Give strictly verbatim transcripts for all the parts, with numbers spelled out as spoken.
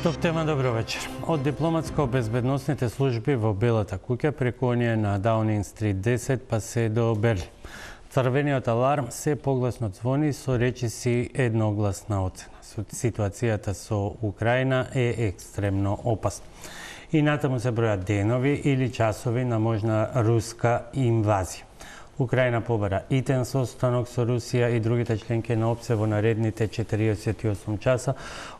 Топтема, добро вечер. Од дипломатско-безбедносните служби во Белата куќа преку оние на Даунинг Стрит десет па се до Берлин. Црвениот аларм се погласно звони со речиси едногласна оцена. Ситуацијата со Украина е екстремно опасна. И натаму се бројат денови или часови на можна руска инвазија. Украина побара итен состанок со Русија и другите членки на ОПСЕ во наредните четириесет и осум часа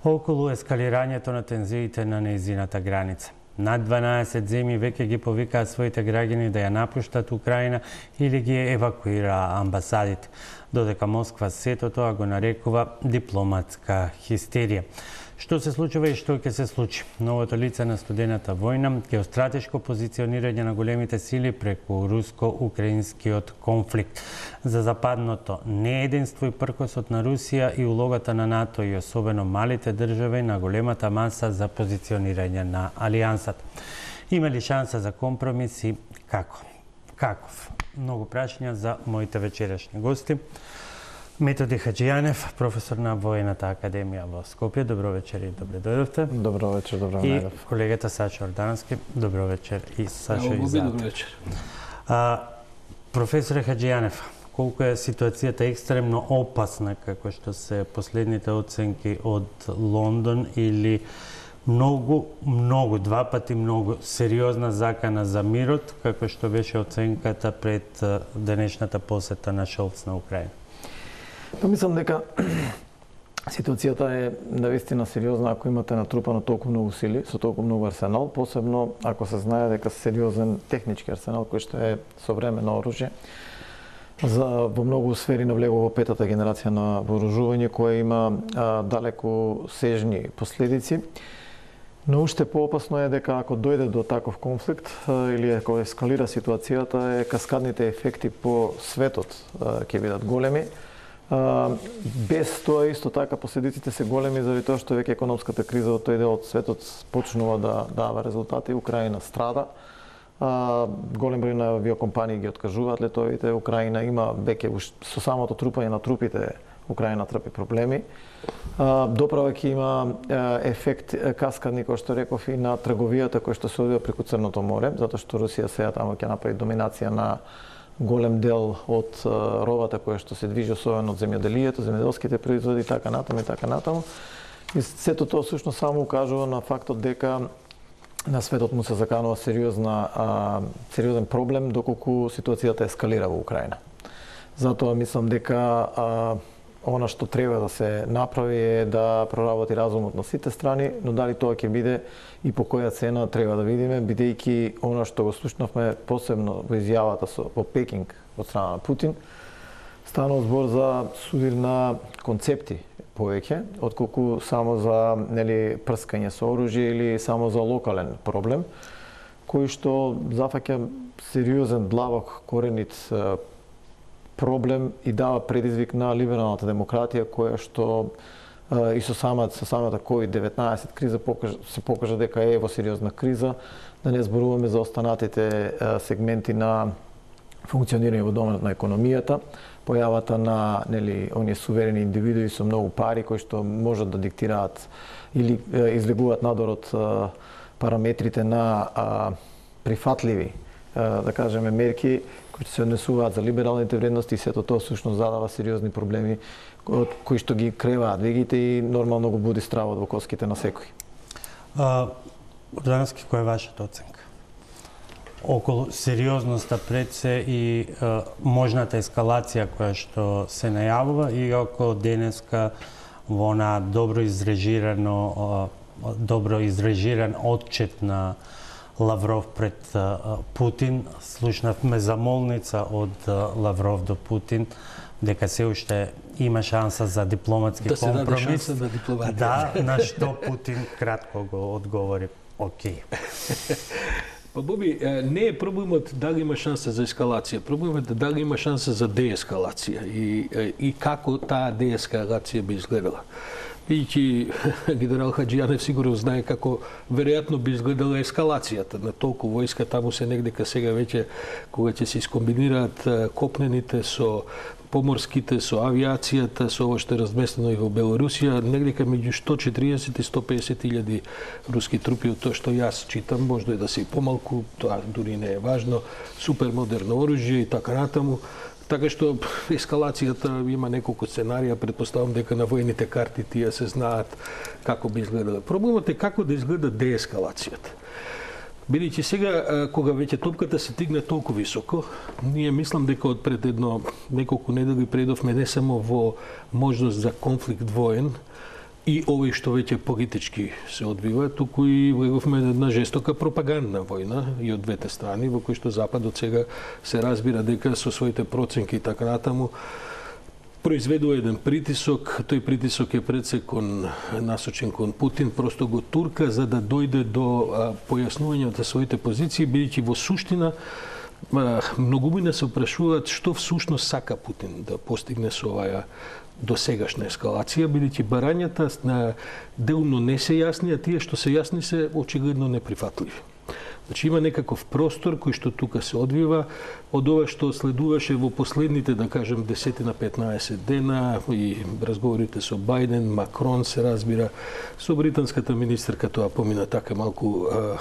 околу ескалирањето на тензиите на нејзината граница. Над дванаесет земји веќе ги повикаа своите граѓани да ја напуштат Украина или ги евакуираа амбасадите, додека Москва сето тоа го нарекува дипломатска хистерија. Што се случува и што ќе се случи? Новото лице на студената војна, геостратешко позиционирање на големите сили преку руско-украинскиот конфликт. За западното неединство и пркосот на Русија и улогата на НАТО и особено малите држави на големата маса за позиционирање на алијансата. Има ли шанса за компромис и како? Каков? Многу прашања за моите вечерашни гости. Методи Хаџијанев, професор на Воената академија во Скопје. Добро вечер и добре дојдовте. Добро вечер, добро и најдов. Колегата Сашо Ордански. Добро вечер и Сашо Добро Изаев. Добро вечер. А, професоре Хаџијанев, колку е ситуацијата екстремно опасна, како што се последните оценки од Лондон, или многу, многу, два пати многу сериозна закана за мирот, како што беше оценката пред денешната посета на Шолц на Украина? Па мислам дека ситуацијата е навистина сериозна ако имате натрупано толку многу сили, со толку многу арсенал, посебно ако се знае дека сериозен технички арсенал кој што е современо оружје. За во многу сфери навлегува во петата генерација на вооружување кое има а, далеку сежни последици. Но уште поопасно е дека ако дојде до таков конфликт а, или ако ескалира ситуацијата, е каскадните ефекти по светот а, ќе бидат големи. Uh, без тоа исто така последиците се големи заради тоа што веќе економската криза од тој дел од светот почнува да дава резултати. Украина страда. Uh, голем број на авиокомпании ги откажуваат летовите. Украина има веќе со самото трупање на трупите Украина трпи проблеми. Uh, доправајќи има uh, ефект каскадни, кој што реков, и на трговијата кој што се одвива преку Црното море, затоа што Русија сега таму ќе направи доминација на голем дел од uh, робата која што се движи особено од земјоделието, земјоделските производи и така натаму и така натаму. И сето тоа всушност само укажува на фактот дека на светот му се заканува сериозна а, сериозен проблем доколку ситуацијата ескалира во Украина. Затоа мислам дека а, она што треба да се направи е да проработи разумот на сите страни, но дали тоа ќе биде и по која цена треба да видиме, бидејќи она што го слушнавме посебно во изјавата со во Пекинг од страна на Путин, станува збор за судир на концепти повеќе, отколку само за, нели, прскање со оружје или само за локален проблем, кој што зафаќа сериозен, длабок, коренит проблем и дава предизвик на либералната демократија, која што uh, и со самата, со самата ковид деветнаесет криза покажа, се покажа дека е во сериозна криза, да не зборуваме за останатите uh, сегменти на функционирање во доменот на економијата, појавата на, нели, оние суверени индивидуи со многу пари кои што можат да диктираат или uh, излегуваат надвор од uh, параметрите на uh, прифатливи, uh, да кажеме, мерки кои се однесуваат за либералните вредности, и сето тоа всушност задава сериозни проблеми од кои што ги креваат вегите и нормално го буди стравот во коските на секој. Ордански, која е вашата оценка околу сериозноста пред се и а, можната ескалација која што се најавува, и ако денеска во она добро изрежирано а, добро изрежиран отчет на Лавров пред а, Путин, слушнавме замолница од а, Лавров до Путин дека се уште има шанса за дипломатски да компромис. Да се даде шанса на дипломатија. Да, на што Путин кратко го одговори: окей. Па Боби, не е проблемот дали има шанса за ескалација, проблемот е дали има шанса за деескалација и, и како таа деескалација би изгледала. Бидејќи генерал Хаџијанев сигурно знае како веројатно би изгледала ескалацијата на толку војска таму се негдека сега веќе кога ќе се искомбинираат копнените со поморските, со авиацијата, со ова што е разместено и во Белорусија, негде меѓу сто и четириесет и сто и песет илјади руски трупи, од тоа што јас читам, може да се и помалку, тоа дури не е важно, супер модерно оружје и така натаму. Така што ескалацијата има неколку сценарија, претпоставам дека на војните карти тие се знаат како би изгледале. Проблемот е како да изгледа деескалацијата. Бидејќи сега, кога веќе топката се тигне толку високо, ние мислам дека од пред едно неколку недели предовме не само во можност за конфликт воен и овој што веќе политички се одвива, туку и влеговме една жестока пропагандна војна и од двете страни, во кој што Западот сега се разбира дека со своите проценки и така натаму произведува еден притисок, тој притисок е пред се кон насочен кон Путин, просто го турка за да дојде до а, појаснување на своите позиции, бидејќи во суштина а, многумина се прашуваат што всушност сака Путин да постигне со оваа досегашна ескалација, бидејќи барањата на делно не се јасни, а тие што се јасни се очигледно неприфатливи. Значи има некаков простор кој што тука се одвива од ова што следуваше во последните, да кажем, десет на петнаесет дена и разговорите со Бајден, Макрон се разбира, со британската министерка тоа помина така малку а,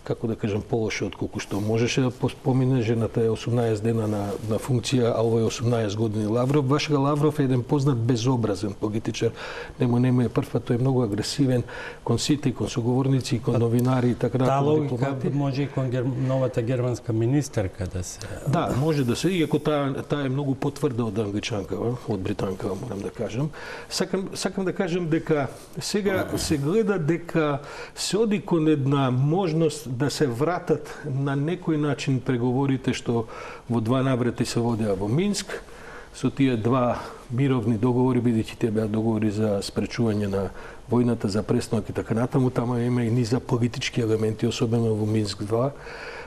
како да кажем, полоше од колку што можеше да помине. Жената е осумнаесет дена на, на функција, а овој осумнаесет години Лавров. Вашига Лавров е еден познат безобразен политичар. Нему нему е прв, тој е многу агресивен кон сите, кон соговорници, кон новинари и така натаму. Таа логика може и кон гер... новата германска министерка да се... Да, може да се, иако таа, таа е многу потврда од англичанкава, од британкава, морам да кажам. Сакам, сакам да кажам дека сега се гледа дека се оди кон една можност да се вратат на некој начин преговорите што во два наврати се водеа во Минск, со тие два мировни договори, бидејќи тие беа договори за спречување на војната, за престанок и така натаму, тама има и низа политички елементи, особено во Минск два,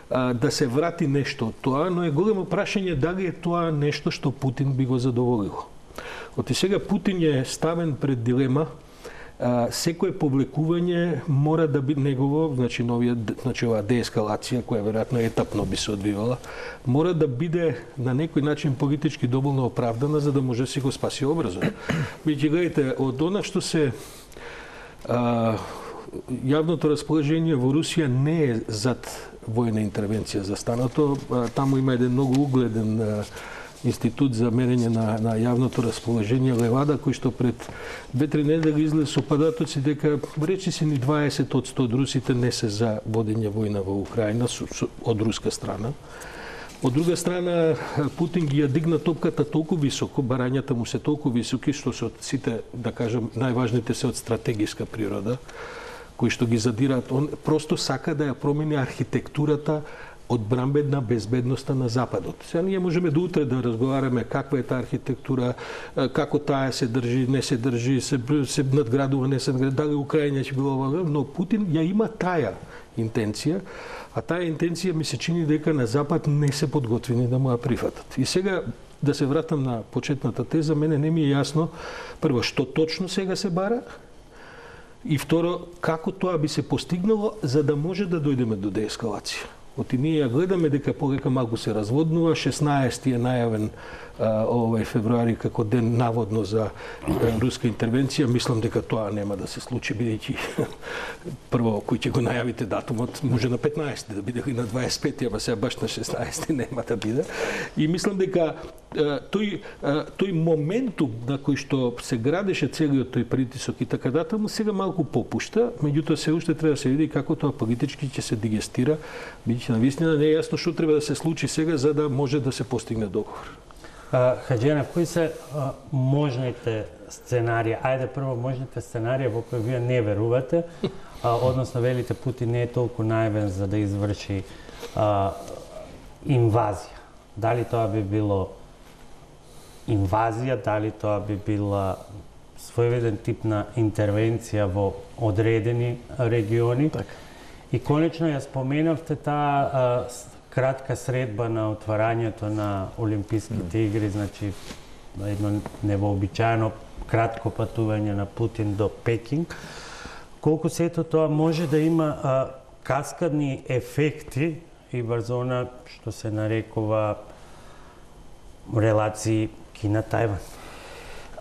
да се врати нешто од тоа, но е големо прашање дали е тоа нешто што Путин би го задоволило. Оти сега Путин е ставен пред дилема. Uh, секое повлекување мора да биде негово, значи новија, значи оваа деескалација која веројатно етапно би се одвивала, мора да биде на некој начин политички доволно оправдана за да може да си го спаси образот. Бидејќи гледате, од она што се uh, јавното расположение во Русија не е зад војна интервенција за станато, uh, таму има еден многу угледен uh, институт за мерење на, на јавното расположение Левада, кој што пред две-три недели излезе со податоци дека речиси ни дваесет од сто од русите не се за водење војна во Украина со, со, од руска страна. Од друга страна, Путин ги ја дигна топката толку високо, барањата му се толку високи, што се од сите, да кажем, најважните се од стратегиска природа, кои што ги задираат. Он просто сака да ја промени архитектурата одбранбена безбедноста на Западот. Сега ние можеме до утре да разговараме каква е таа архитектура, како таа се држи, не се држи, се, се надградува, не се надградува, дали Украина ќе било ова, но Путин ја има таа интенција, а таа интенција ми се чини дека на Запад не се подготвени да му ја прифатат. И сега да се вратам на почетната теза, мене не ми е јасно прво што точно сега се бара, и второ како тоа би се постигнало за да може да дојдеме до деескалација. Оти ние ја гледаме дека полека малку се разводнува, шеснаесети е најавен а, овој февруари како ден наводно за а, руска интервенција. Мислам дека тоа нема да се случи, бидејќи прво кој ќе го најавите датумот може на петнаесети да биде и на дваесет и пети, ама сега баш на шеснаесети нема да биде. И мислам дека а, тој а, тој моментум на кој што се градеше целиот тој притисок и така натаму сега малку попушта, меѓутоа се уште треба да се види како тоа политички ќе се дигестира, бидејќи навистина не е јасно што треба да се случи сега за да може да се постигне договор. Хаџијанов, кои се а, можните сценарии? Ајде прво можните сценарии во кои вие не верувате, а, односно велите Путин не е толку наивен за да изврши а, инвазија. Дали тоа би било инвазија, дали тоа би била своевиден тип на интервенција во одредени региони? Так. И конечно ја споменавте таа кратка средба на отварањето на Олимписките игри, значи едно невообичаено кратко патување на Путин до Пекинг. Колку сето тоа може да има а, каскадни ефекти и врз она што се нарекува релации Кина, Тајван?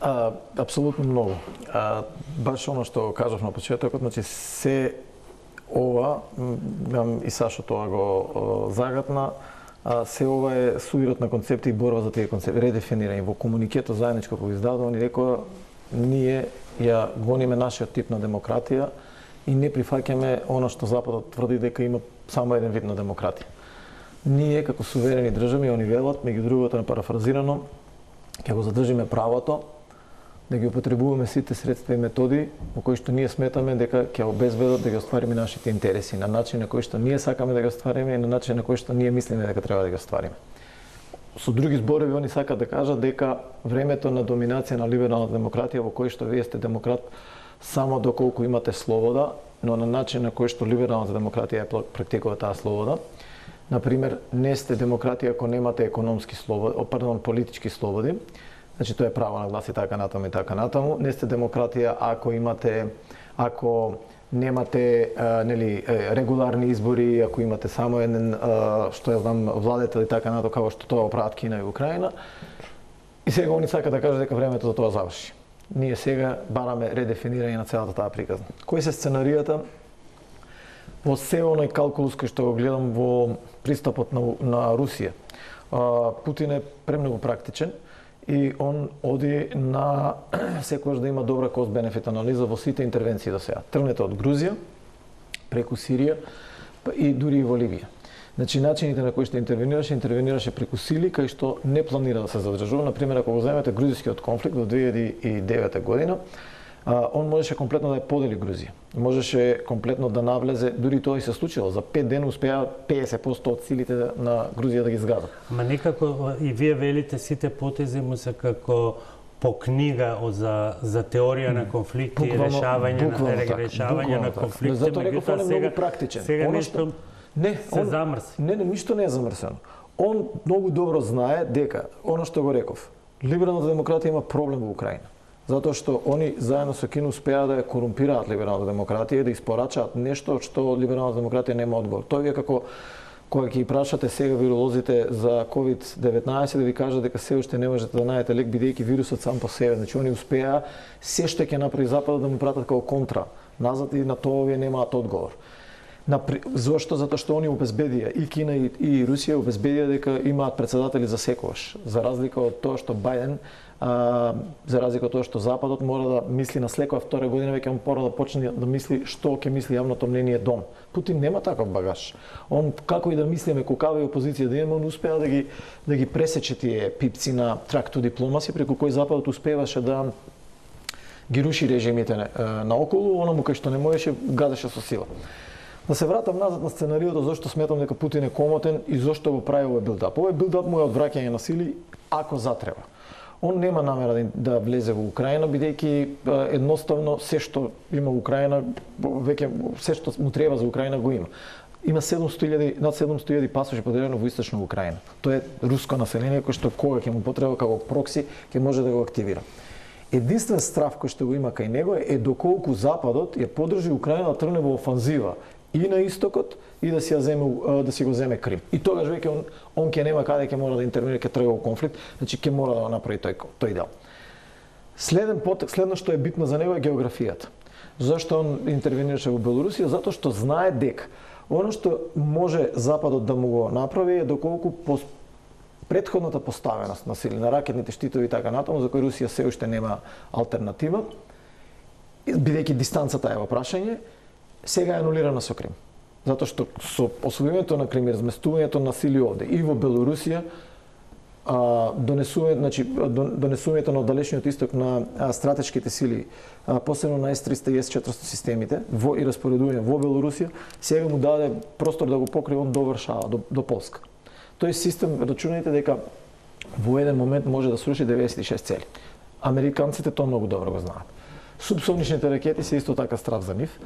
А, апсолутно многу. А, баш оно што кажав на почетокот, значи се ова, и Сашо тоа го загатна, а, се ова е суирот на концепти и борба за тие концепти, редефинирање. Во комуникето заедничко кој издадува, ни рекоа, ние ја гониме нашиот тип на демократија и не прифаќаме оно што Западот тврди дека има само еден вид на демократија. Ние, како суверени држави, они велат, меѓу другото напарафразирано, ќе го задржиме правото да ги употребуваме сите средства и методи во кои што ние сметаме дека ќе обезбедат да ги оствариме нашите интереси на начин на кој што ние сакаме да ги оствариме и на начин на кој што ние мислиме дека треба да ги оствариме. Со други зборови, они сакаат да кажат дека времето на доминација на либералната демократија во кој што вие сте демократ само доколку имате слобода, но на начин на кој што либералната демократија ја практикува таа слобода. Например, не сте демократија ако немате економски слободи, пардон, политички слободи. Значи тоа е право на глас и така натаму и така натаму. Не сте демократија ако имате, ако немате а, нели регуларни избори, ако имате само еден а, што ја знам владетел и така натаму, како што тоа прават Кина и Украина. И сега они сакаат да кажат дека времето за тоа заврши. Ние сега бараме редефинирање на целата таа приказна. Кои се сценаријата? Во се оној калкулус кој што го гледам во пристапот на, на Русија, а, Путин е премногу практичен и он оди на секогаш да има добра кост-бенефит анализа во сите интервенции до сега. Тргнете од Грузија, преку Сирија и дури и во Либија. Значи, начините на кои што интервенираше, интервенираше преку сили кај што не планира да се задржува. Например, ако го земете грузискиот конфликт во две илјади и девета година, а, он можеше комплетно да ја подели Грузија. Можеше комплетно да навлезе, дури тоа и се случило. За пет дена успеа педесет проценти од силите на Грузија да ги згадат. Ма некако и вие велите сите потези му се како по книга за за теорија на конфликти и решавање на решавање на конфликти. Затоа реков он е многу практичен. Сега нешто не, се он, замрси. Не, не, ништо не е замрсено. Он многу добро знае дека, оно што го реков, либералната демократија има проблем во Украина. Затоа што они заедно со Кина успеа да ја корумпираат либералната демократија и да испорачаат нешто што либералната демократија нема одговор. Тоа е како кога ќе прашате сега виролозите за ковид деветнаесет да ви кажат дека се уште не можете да најдете лек бидејќи вирусот сам по себе. Значи они успеа се што ќе направи Западот да му пратат како контра назад и на тоа овие немаат одговор. Зошто? Затоа што они обезбедија, и Кина и, и Русија обезбедија дека имаат председатели за секогаш. За разлика од тоа што Бајден, а, за разлика од тоа што Западот мора да мисли на секоја втора година, веќе он мора да почне да мисли што ќе мисли јавното мнение дом. Путин нема таков багаж. Он како и да мислиме колкава и опозиција да има, он успеа да ги да ги пресече тие пипци на track to diplomacy преку кои Западот успеваше да ги руши режимите наоколу, оному кај што не можеше гадеше со сила. Да се вратам назад на сценариото зошто сметам дека Путин е комотен и зошто го прави овој билдап. Овој билдап му е одвраќање на сили ако затреба. Он нема намера да влезе во Украина, бидејќи едноставно се што има во Украина, веќе се што му треба за Украина го има. Има седумсто илјади, над седумсто илјади пасоши поделено во источна Украина. Тоа е руско население кој што кога ќе му потреба како прокси ќе може да го активира. Единствен страв кој што го има кај него е доколку Западот ја поддржи Украина да тргне во офанзива и на истокот и да си ја земе да си го земе Крим. И тогаш веќе он он ќе нема каде ќе мора да интервенира, ќе тргне во конфликт, значи ќе мора да направи тој тој дел. Следен потек, следно што е битно за него е географијата. Зошто он интервенираше во Белорусија? Затоа што знае дека оно што може Западот да му го направи е доколку по претходната поставеност на сили на ракетните штитови и така натаму, за кои Русија се уште нема алтернатива, бидејќи дистанцата е во прашање, сега е анулирана со Крим. Затоа што со освојувањето на Крим и разместувањето на сили овде и во Белорусија, донесувањето, значи донесувањето на оддалечниот исток на стратешките сили, посебно на Ес триста и Ес четиристо системите во и распоредување во Белорусија, сега му даде простор да го покрие он до Варшава, до, до Полска. Тој систем, рачунајте дека во еден момент може да сруши деветдесет и шест цели. Американците тоа многу добро го знаат. Субсоничните ракети се исто така страв за нив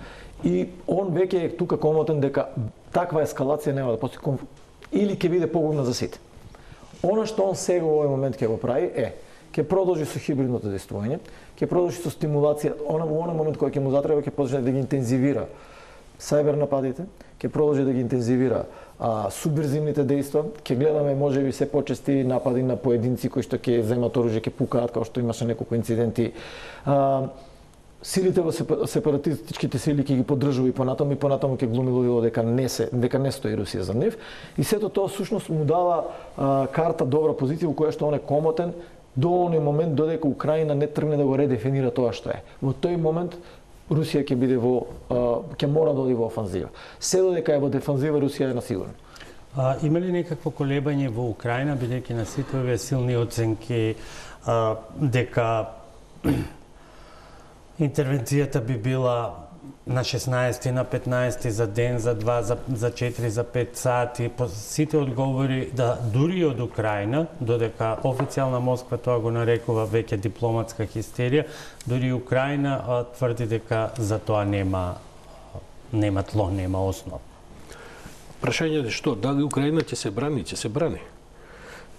и он веќе е тука комотен дека таква ескалација нема да постои или ќе биде погубна за сите. Она што он сега во овој момент ќе го прави е ќе продолжи со хибридното действување, ќе продолжи со стимулација, она во оној момент кој ќе му затреба ќе почне да ги интензивира сајбер нападите, ќе продолжи да ги интензивира а, субверзивните дејства, ќе гледаме можеби се почести напади на поединци кои што ќе земат оружје, ќе пукаат, како што имаше неколку инциденти. А, силите во сепаратистичките сили ќе ги поддржува и понатаму и понатаму ќе глуми лудило дека не се дека не стои Русија за нив и сето тоа всушност му дава а, карта добра позиција во која што он е комотен до оној момент додека Украина не тргне да го редефинира тоа што е. Во тој момент Русија ќе биде во ќе мора да оди во офанзива. Се додека е во дефанзива Русија е на сигурно. А, има ли некакво колебање во Украина бидејќи на сите овие силни оценки а, дека интервенцијата би била на шеснаесети, на петнаесети за ден, за два, за, за четири, за пет сати. По сите одговори да дури од Украина, додека официјална Москва тоа го нарекува веќе дипломатска хистерија, дури Украина а, тврди дека за тоа нема нема тло, нема основа. Прашањето е што? Дали Украина ќе се брани? Ќе се брани.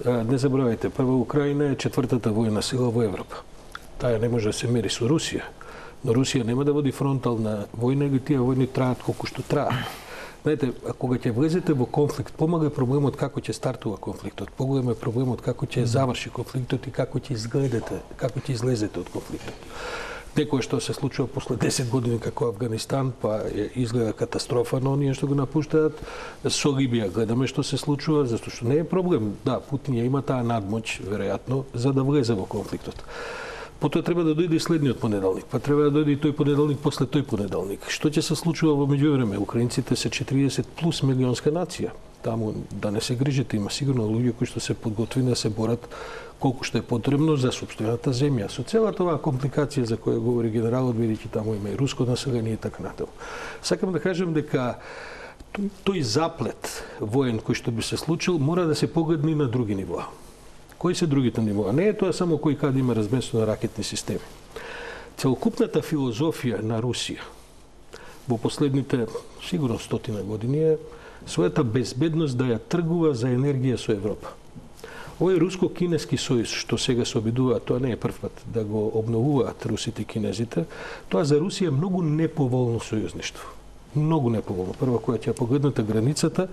А, не забравајте, прва Украина е четвртата војна сила во Европа. Таа не може да се мери со Русија. Но Русија нема да води фронтална војна или тие војни траат колку што траат. Знаете, кога ќе влезете во конфликт, помага проблемот како ќе стартува конфликтот, поголем е проблемот како ќе заврши конфликтот и како ќе изгледате, како ќе излезете од конфликтот. Некое што се случува после десет години како Афганистан, па изгледа катастрофа на оние што го напуштаат. Со Либија гледаме што се случува, затоа што не е проблем. Да, Путин ја има таа надмоќ, веројатно, за да влезе во конфликтот. Потоа треба да дојде и следниот понеделник, па треба да дојде и тој понеделник после тој понеделник. Што ќе се случува во меѓувреме? Украинците се четириесет плюс милионска нација. Таму да не се грижите, има сигурно луѓе кои што се подготвени да се борат колку што е потребно за сопствената земја. Со целата оваа компликација за која говори генералот, бидејќи таму има и руско население и така натаму. Сакам да кажам дека тој заплет воен кој што би се случил мора да се погледне на други нивоа. Кои се другите нивоа? Не е тоа само кој каде има разместено ракетни системи. Целокупната филозофија на Русија во последните сигурно стотина години е својата безбедност да ја тргува за енергија со Европа. Овој руско-кинески сојуз што сега се обидуваат, тоа не е прв пат да го обновуваат русите и кинезите, тоа за Русија е многу неповолно сојузништво. Многу неповолно. Прва која ќе погледнете границата,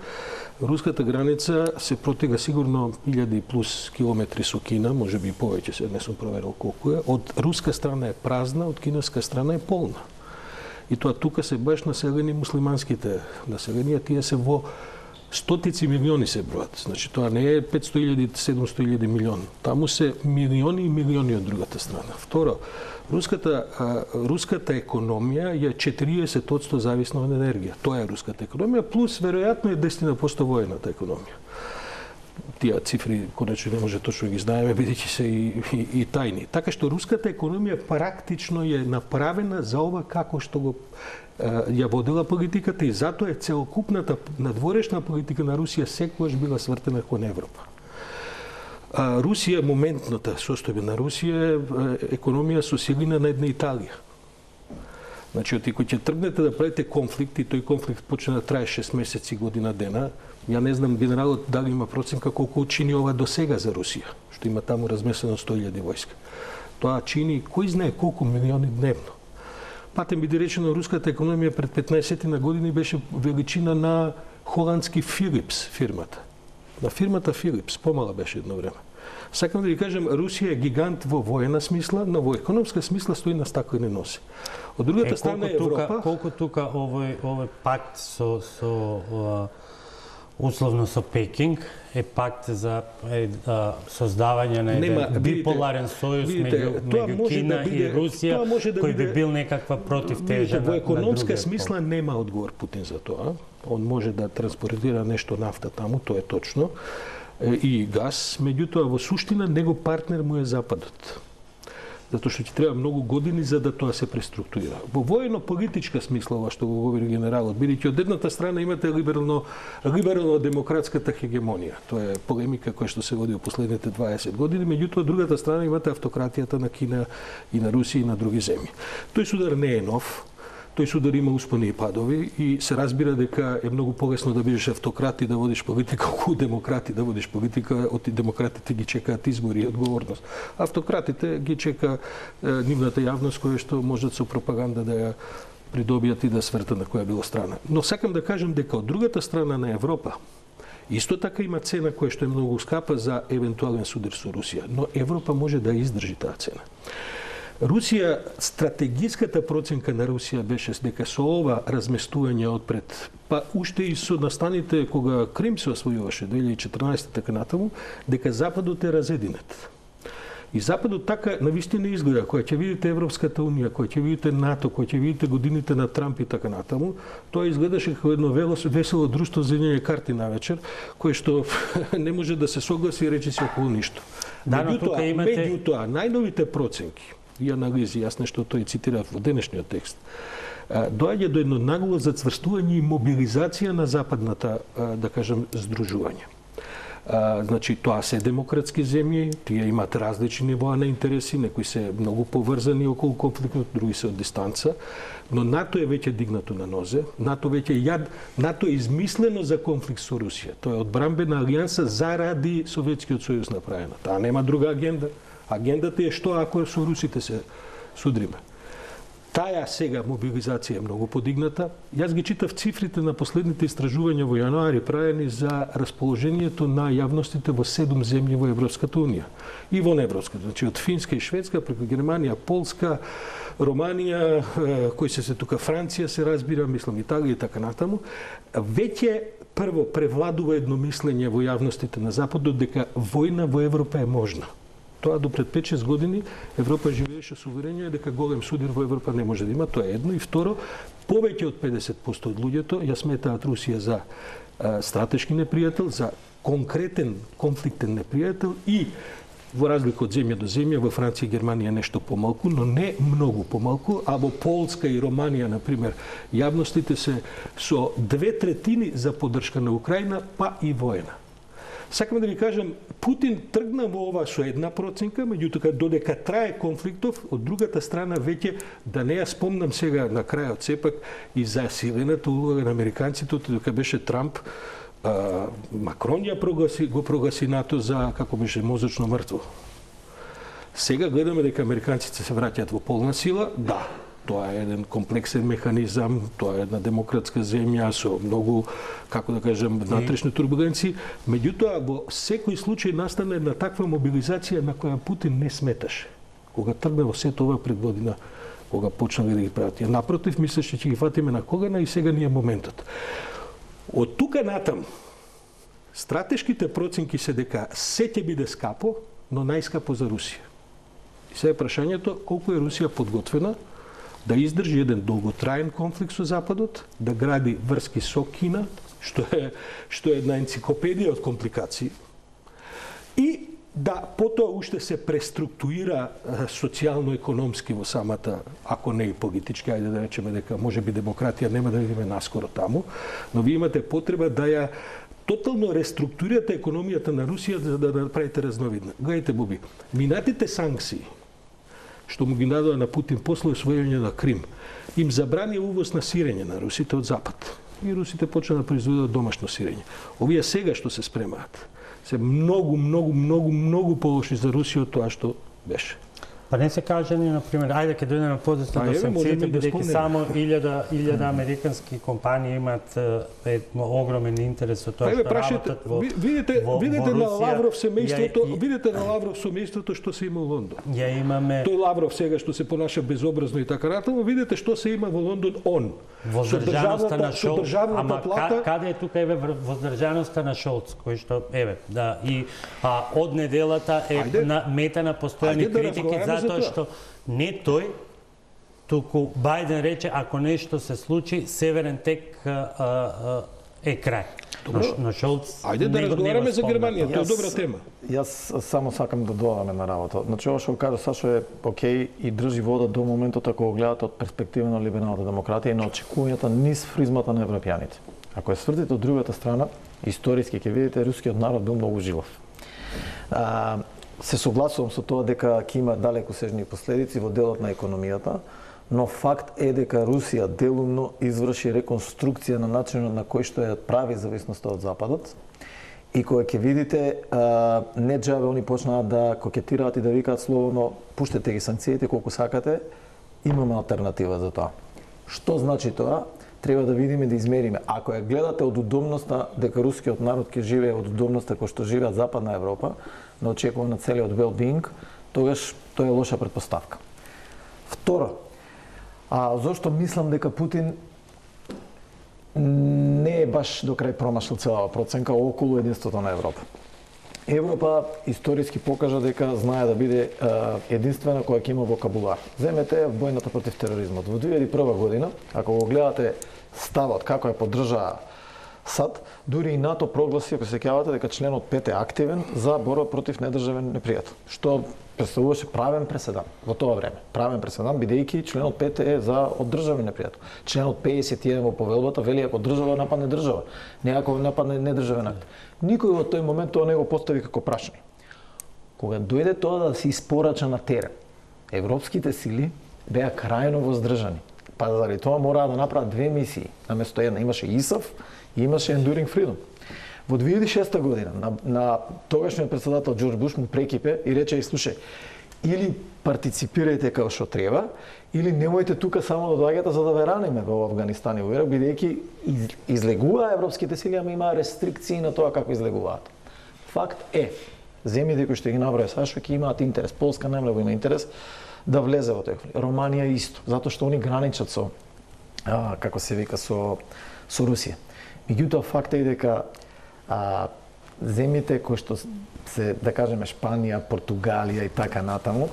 руската граница се протега сигурно илјади плюс километри со Кина, можеби и повеќе, се не сум проверил колку е. Од руска страна е празна, од кинеска страна е полна. И тоа тука се баш населени муслиманските населенија, тие се во стотици милиони се бројат. Значи тоа не е петстотини илјади, седумстотини илјади милиони. Таму се милиони и милиони од другата страна. Второ, руската а, руската економија е четириесет одсто зависна од енергија. Тоа е руската економија плюс веројатно е десет одсто воената економија. Тие цифри конечно не може точно ги знаеме бидејќи се и, и, и тајни. Така што руската економија практично е направена за ова како што го ја водела политиката и затоа е целокупната надворешна политика на Русија секогаш била свртена кон Европа. А, Русија, моментната состојба на Русија е економија со силина на една Италија. Значи, оти кој ќе тргнете да правите конфликт и тој конфликт почне да трае шест месеци, година дена, ја не знам генералот дали има проценка колку чини ова до сега за Русија, што има таму разместено сто илјади војска. Тоа чини кој знае колку милиони дневно. Патем биде речено, руската економија пред петнаесет на години беше величина на холандски Филипс фирмата. На фирмата Филипс, помала беше едно време. Сакам да ви кажем, Русија е гигант во воена смисла, но во економска смисла стои на стаклени носи. Од другата е, страна е Европа... Тука, колку тука овој, овој пакт со, со uh, условно со Пекинг е пакт за е, а, создавање на еден биполарен сојуз меѓу, меѓу Кина да биде, и Русија, да кој би бил некаква противтежа на, во економска смисла нема одговор Путин за тоа. Он може да транспортира нешто нафта таму, тоа е точно, и газ, меѓутоа во суштина него партнер му е Западот. Затоа што ќе треба многу години за да тоа се преструктурира. Во воено-политичка смисла, ова што го говори генералот, бидејќи од едната страна имате либерално либерално-демократската хегемонија. Тоа е полемика која што се води во последните дваесет години, меѓутоа од другата страна имате автократијата на Кина и на Русија и на други земји. Тој судар не е нов. Тој судар има успони и падови и се разбира дека е многу полесно да бидеш автократ и да водиш политика, околу демократи да водиш политика, од демократите ги чекаат избори и одговорност. Автократите ги чека е, нивната јавност која што можат со пропаганда да ја придобијат и да свртат на која било страна. Но сакам да кажам дека од другата страна на Европа исто така има цена која што е многу скапа за евентуален судар со Русија, но Европа може да издржи таа цена. Русија, стратегиската проценка на Русија беше дека со ова разместување одпред, па уште и со настаните кога Крим се освојуваше две илјади и четрнаесета така натаму, дека Западот е разединет. И Западот така навистина изгледа, кога ќе видите Европската унија, кога ќе видите НАТО, кога ќе видите годините на Трамп и така натаму, тоа изгледаше како едно весело друштво за играње карти на вечер, кое што не може да се согласи и рече си околу ништо. Да, но тука имате... Меѓутоа, најновите проценки и анализи, јас нешто тој цитирав во денешниот текст, доаѓа до едно нагло зацврстување и мобилизација на западната, да кажем, здружување. А, значи, тоа се демократски земји, тие имаат различни нивоа на интереси, некои се многу поврзани околу конфликтот, други се од дистанца, но НАТО е веќе дигнато на нозе, НАТО веќе јад, НАТО е измислено за конфликт со Русија. Тоа е одбранбена алијанса заради Советскиот сојуз направена. Таа нема друга агенда. Агендата е што ако со русите се судриме. Таа сега мобилизација е многу подигната. Јас ги читав цифрите на последните истражувања во јануари правени за расположението на јавностите во седум земји во Европската унија и во неевропската, значи од Финска и Шведска преку Германија, Полска, Романија, кои се се тука Франција се разбира, мислам Италија и така натаму. Веќе прво превладува едно мислење во јавностите на Западот дека војна во Европа е можна. Тоа до пред пет-шест години Европа живееше со уверение дека голем судир во Европа не може да има, тоа е едно. И второ, повеќе од педесет проценти од луѓето ја сметаат Русија за а, стратешки непријател, за конкретен конфликтен непријател и во разлика од земја до земја, во Франција и Германија нешто помалку, но не многу помалку, а во Полска и Романија, например, јавностите се со две третини за поддршка на Украина, па и воена. Сакам да ви кажам, Путин тргна во ова со една проценка, меѓутоа додека трае конфликтов, од другата страна веќе, да не ја спомнам сега на крајот сепак и за силената улога на американците, додека беше Трамп, а, Макрон ја прогласи, го прогласи НАТО за, како беше, мозочно мртво. Сега гледаме дека американците се враќаат во полна сила, да. Тоа е еден комплексен механизам, тоа е една демократска земја со многу, како да кажем, внатрешни турбуленции. Меѓутоа, во секој случај настана една таква мобилизација на која Путин не сметаше. Кога тргна во сето ова пред година, кога почнали да ги прават. Напротив, мислеше ќе ги фатиме на когана и сега не е моментот. Од тука натам, стратешките проценки се дека се ќе биде скапо, но најскапо за Русија. И сега прашањето колку е Русија подготвена да издржи еден долготраен конфликт со Западот, да гради врски со Кина, што е што е една енциклопедија од компликации, и да потоа уште се преструктурира социјално-економски во самата, ако не и политички, ајде да речеме дека можеби демократија нема да видиме наскоро таму, но ви имате потреба да ја тотално реструктурирате економијата на Русија за да направите разновидна. Гледайте, Буби, минатите санкции што му ги надоа на Путин после освојување на Крим, им забрани увоз на сирење на русите од Запад. И русите почна да произведат домашно сирење. Овие сега што се спремаат, се многу, многу, многу, многу полоши за Русија од тоа што беше. Па не се каже ни, например, ајде ке дојдеме подесно до санкциите, бидејќи само илјада американски компании имаат е, огромен интерес од тоа што работат во Видите, во, видите во на Лавров семејството, ја, видите на Лавров семејството што се има во Лондон. Ја имаме Тој Лавров сега што се понаша безобразно и така натаму, видите што се има во Лондон он. воздржаноста на Шолц, ама плата, каде е тука еве воздржаноста на Шолц, кој што еве да и а, од неделата е ајде, на мета на постојани да критики затоа што не тој туку Бајден рече ако нешто се случи Северен тек а, а, е крај. Добро. Но, но Шолц ајде да разговараме за Германија, тоа е добра тема. Јас само сакам да додам една работа. Значи, ова што кажа Сашо е окей и држи вода до моментот ако го гледате од перспектива на либералната демократија и на очекувањата низ фризмата на европјаните. Ако ја свртите од другата страна, историски ќе видите рускиот народ бил многу жилав. А, се согласувам со тоа дека ќе има далекосежни последици во делот на економијата, но факт е дека Русија делумно изврши реконструкција на начинот на кој што ја прави зависноста од Западот. И кога ќе видите, а, не џабе они почнаа да кокетираат и да викаат словно пуштете ги санкциите колку сакате, имаме алтернатива за тоа. Што значи тоа? Треба да видиме, да измериме. Ако ја гледате од удобноста дека рускиот народ ќе живее од удобноста кој што живеат Западна Европа, на очекувано целиот well-being, тогаш тоа е лоша предпоставка. Второ, а зошто мислам дека Путин не е баш до крај промашил целава проценка околу единството на Европа. Европа историски покажа дека знае да биде е, единствена која ќе има вокабулар. Земете војната против тероризмот. Во две илјади и прва година, ако го гледате ставот како ја поддржа САД, дури и НАТО прогласи, ако се сеќавате, дека членот пет е активен за борба против недржавен непријател, што представуваше правен преседан во тоа време. Правен преседан, бидејќи членот пет е за оддржавен непријател. Членот пеесет и еден во повелбата вели ако држава нападне држава, не ако нападне недржавен акт. Никој во тој момент тоа не го постави како прашање. Кога дојде тоа да се испорача на терен, европските сили беа крајно воздржани. Па заради тоа мораа да направат две мисии, наместо една. Имаше ИСАФ и имаше Enduring Freedom. Во две илјади и шеста година на, на тогашниот председател Џорџ Буш му прекипе и рече: слушај, или партиципирајте како што треба, или немојте тука само да доаѓате за да ве раниме во Авганистан и во Ирак, бидејќи из, излегуваа европските сили, ама имаа рестрикции на тоа како излегуваат. Факт е, земјите кои што ги наброја Сашо ќе имаат интерес, Полска најмногу има интерес да влезе во тој. Романија исто, затоа што они граничат со а, како се вика со со Русија. Меѓутоа факт е дека а, земјите кои што се, да кажеме, Шпанија, Португалија и така натаму,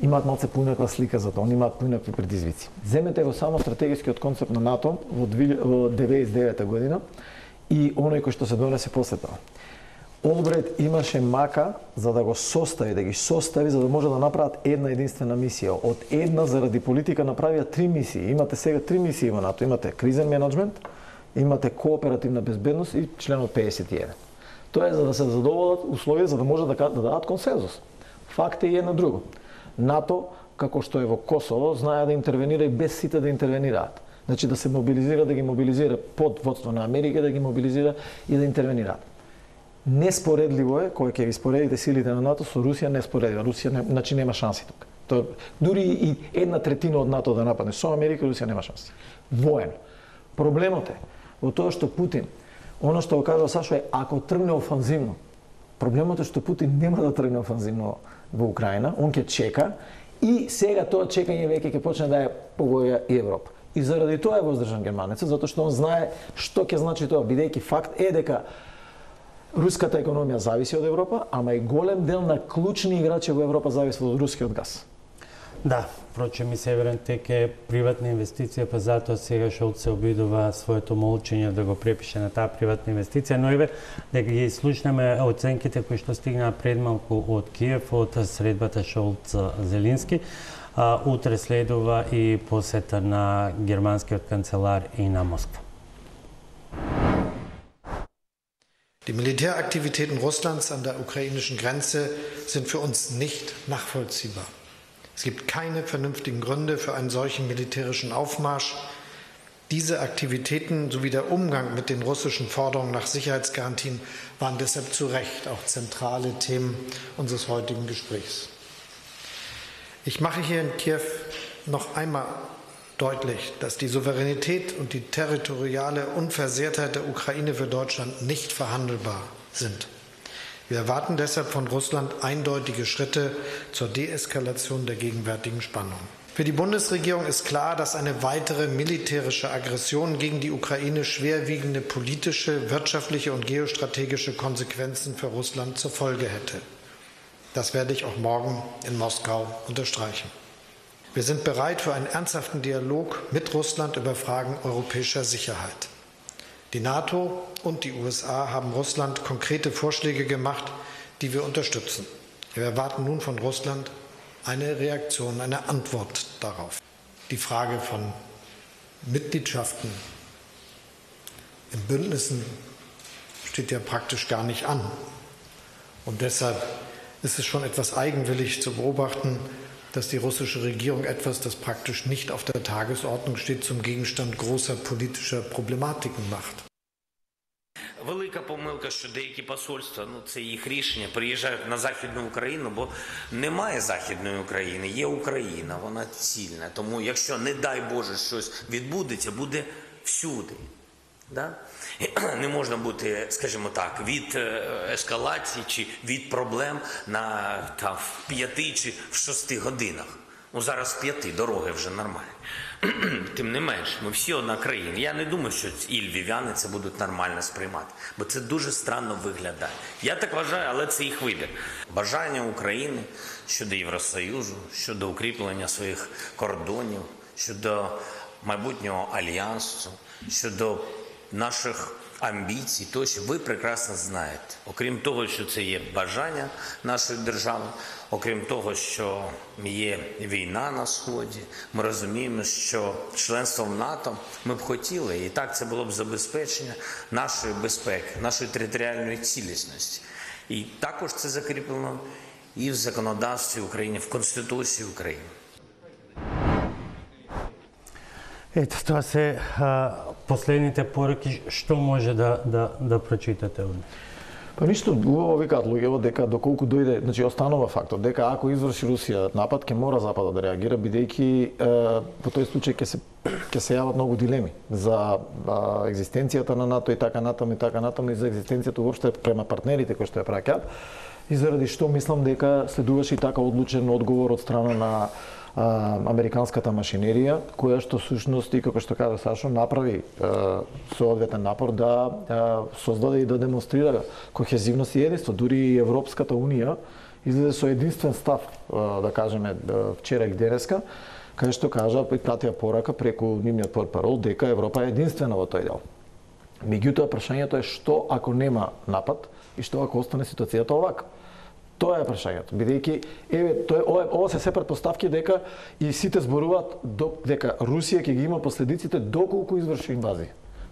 имаат малце поинаква слика за тоа, они имаат поинакви предизвици. Земете го само стратегискиот концепт на НАТО во деветдесет и девета година и оној кој што се донесе после тоа. Олбрайт имаше мака за да го состави, да ги состави за да може да направат една единствена мисија. Од една заради политика направија три мисии. Имате сега три мисии во НАТО. Имате кризен менеджмент, имате кооперативна безбедност и членот пеесет и еден. Тоа е за да се задоволат условија за да може да, да дадат консензус. Факт е и едно друго. НАТО, како што е во Косово, знае да интервенира и без сите да интервенираат. Значи да се мобилизира, да ги мобилизира под водство на Америка, да ги мобилизира и да интервенираат. Неспоредливо е, кога ќе ги споредите силите на НАТО со Русија, неспоредливо. Русија не, значи нема шанси тука. Тоа, дури и една третина од НАТО да нападне со Америка, Русија нема шанси. Воено. Проблемот е во тоа што Путин, оно што го кажа Сашо е, ако тргне офанзивно, проблемот е што Путин нема да тргне офанзивно во Украина, он ќе чека и сега тоа чекање веќе ќе почне да ја погоди и Европа. И заради тоа е воздржан германецот, затоа што он знае што ќе значи тоа, бидејќи факт е дека руската економија зависи од Европа, ама и голем дел на клучни играчи во Европа зависи од рускиот газ. Да, впрочем и Северен тек е приватна инвестиција, па затоа сега Шолц се обидува своето молчење да го препише на таа приватна инвестиција, но еве дека ги слушнеме оценките кои што стигнаа пред малку од Киев, од средбата Шолц-Зелински. А, утре следува и посета на германскиот канцелар и на Москва. Die Militäraktivitäten Russlands an der ukrainischen Grenze sind für uns nicht nachvollziehbar. Es gibt keine vernünftigen Gründe für einen solchen militärischen Aufmarsch. Diese Aktivitäten sowie der Umgang mit den russischen Forderungen nach Sicherheitsgarantien waren deshalb zu Recht auch zentrale Themen unseres heutigen Gesprächs. Ich mache hier in Kiew noch einmal deutlich, dass die Souveränität und die territoriale Unversehrtheit der Ukraine für Deutschland nicht verhandelbar sind. Wir erwarten deshalb von Russland eindeutige Schritte zur Deeskalation der gegenwärtigen Spannung. Für die Bundesregierung ist klar, dass eine weitere militärische Aggression gegen die Ukraine schwerwiegende politische, wirtschaftliche und geostrategische Konsequenzen für Russland zur Folge hätte. Das werde ich auch morgen in Moskau unterstreichen. Wir sind bereit für einen ernsthaften Dialog mit Russland über Fragen europäischer Sicherheit. Die NATO und die U S A haben Russland konkrete Vorschläge gemacht, die wir unterstützen. Wir erwarten nun von Russland eine Reaktion, eine Antwort darauf. Die Frage von Mitgliedschaften in Bündnissen steht ja praktisch gar nicht an. Und deshalb ist es schon etwas eigenwillig zu beobachten, dass die russische Regierung etwas, das praktisch nicht auf der Tagesordnung steht, zum Gegenstand großer politischer Problematiken macht. велика помилка, що деякі посольства, ну це їх рішення, приїжджають на Західну Україну, бо немає Західної України, є Україна, вона цільна. Тому якщо, не дай Боже, щось відбудеться, буде всюди. Да? Не можна бути, скажімо так, від ескалації чи від проблем на там, в п'яти чи в шести годинах. Ну зараз в п'яти, дороги вже нормальні. Тим не менш, ми всі одна країна. Я не думаю, що і львів'яни це будуть нормально сприймати, бо це дуже странно виглядає. Я так вважаю, але це їх вибір. Бажання України щодо Євросоюзу, щодо укріплення своїх кордонів, щодо майбутнього альянсу, щодо наших амбіцій, тощо ви прекрасно знаєте. Окрім того, що це є бажання нашої держави, окрім того, що є війна на Сході, ми розуміємо, що членство в НАТО ми б хотіли, і так це було б забезпечення нашої безпеки, нашої територіальної цілісності. І також це закріплено і в законодавстві України, в Конституції України. Ето, тоа се а, последните пораки, што може да, да, да прочитате од? Па ништо, убаво викаат луѓето дека доколку дојде, значи останува фактот дека ако изврши Русија напад, ќе мора Западот да реагира, бидејќи во тој случај ќе се ќе се јават многу дилеми за а, екзистенцијата на НАТО и така натаму и така натаму и за екзистенцијата уопште према партнерите кои што ја праќаат. И заради што мислам дека следуваше и така одлучен одговор од страна на а, американската машинерија, која што всушност и како што кажа Сашо, направи а, соодветен напор да а, создаде и да демонстрира кохезивност и единство. Дури и Европската унија излезе со единствен став, а, да кажеме, вчера и денеска, каде што кажа и пратија порака преку нивниот портпарол дека Европа е единствена во тој дел. Меѓутоа, прашањето е што ако нема напад и што ако остане ситуацијата овака. Тоа е прашањето, бидејќи еве тоа ова, ова се се претпоставки дека и сите зборуваат дека Русија ќе ги има последиците доколку изврши инвазија.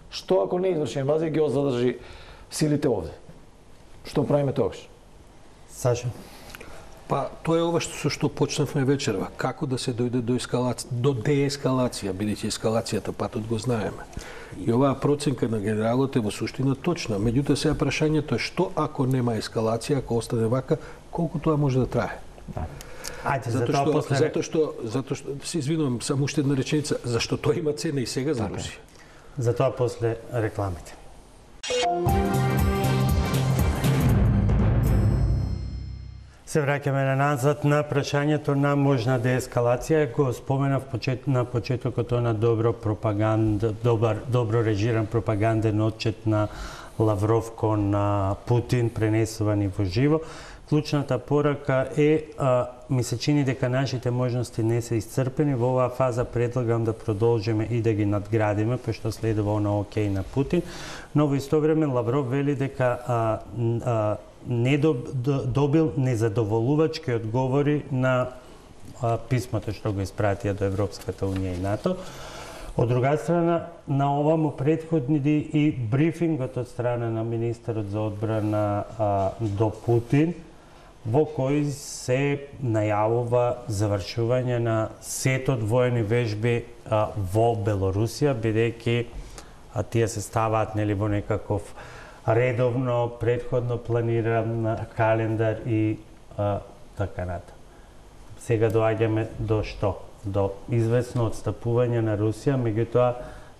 Што ако не изврши инвазија, ги задржи силите овде? Што правиме тогаш? Саша? Па тоа е ова што со што почнавме вечерва, како да се дојде до ескалација, до деескалација, бидејќи ескалацијата патот го знаеме. И оваа проценка на генералот е во суштина точна. Меѓутоа сега прашањето е што ако нема ескалација, ако остане вака, колку тоа може да трае? Да. Ајде, за затоа тоа што, после... затоа што, затоа што, се извинувам, само уште една реченица, зашто тоа има цена и сега за Русија. За тоа после рекламите. Се враќаме на назад на прашањето на можна деескалација. Го споменав почет, на почетокот на добро пропаганда, добар, добро режиран пропаганден отчет на Лавров кон на Путин, пренесувани во живо. Клучната порака е, а, ми се чини дека нашите можности не се исцрпени. Во оваа фаза предлагам да продолжиме и да ги надградиме, пошто следува она окей на Путин. Но во исто време Лавров вели дека а, а, не добил незадоволувачки одговори на а, писмото што го испратија до Европската унија и НАТО. Од друга страна, на ова му претходни и брифингот од страна на министерот за одбрана а, до Путин, во кој се најавува завршување на сетот воени вежби а, во Белорусија, бидејќи тие се ставаат нели во некаков редовно, предходно планиран календар и а, така натаму. Сега доаѓаме до што? До известно отстапување на Русија, меѓутоа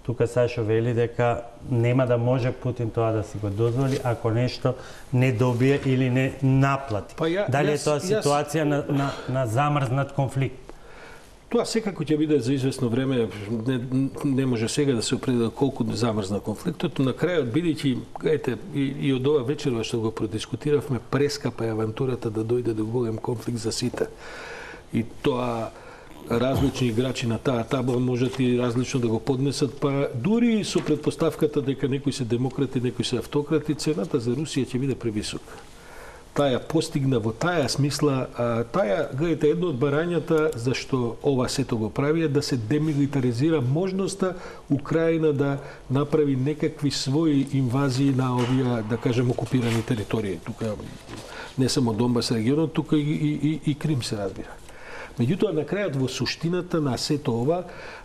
тука Сашо вели дека нема да може Путин тоа да си го дозволи ако нешто не добие или не наплати. Па ја, Дали е јас, тоа ситуација јас... на, на, на замрзнат конфликт? Тоа секако ќе биде за известно време, не, не може сега да се определи колку замрзна конфликтот, на крајот бидејќи, ете, и, и од ова вечерва што го продискутиравме, прескапа е авантурата да дојде до голем конфликт за сите. И тоа различни играчи на таа табла можат и различно да го поднесат, па дури со предпоставката дека некои се демократи, некои се автократи, цената за Русија ќе биде превисока. Таја постигна во таја смисла, а, таја, гледате, едно од барањата зашто ова сето го прави е да се демилитаризира можноста Украина да направи некакви своји инвазии на овие, да кажем, окупирани територии. Тука не само Донбас регионот, тука и, и, и, и Крим се разбира. Меѓутоа, на крајот во суштината на сето ова,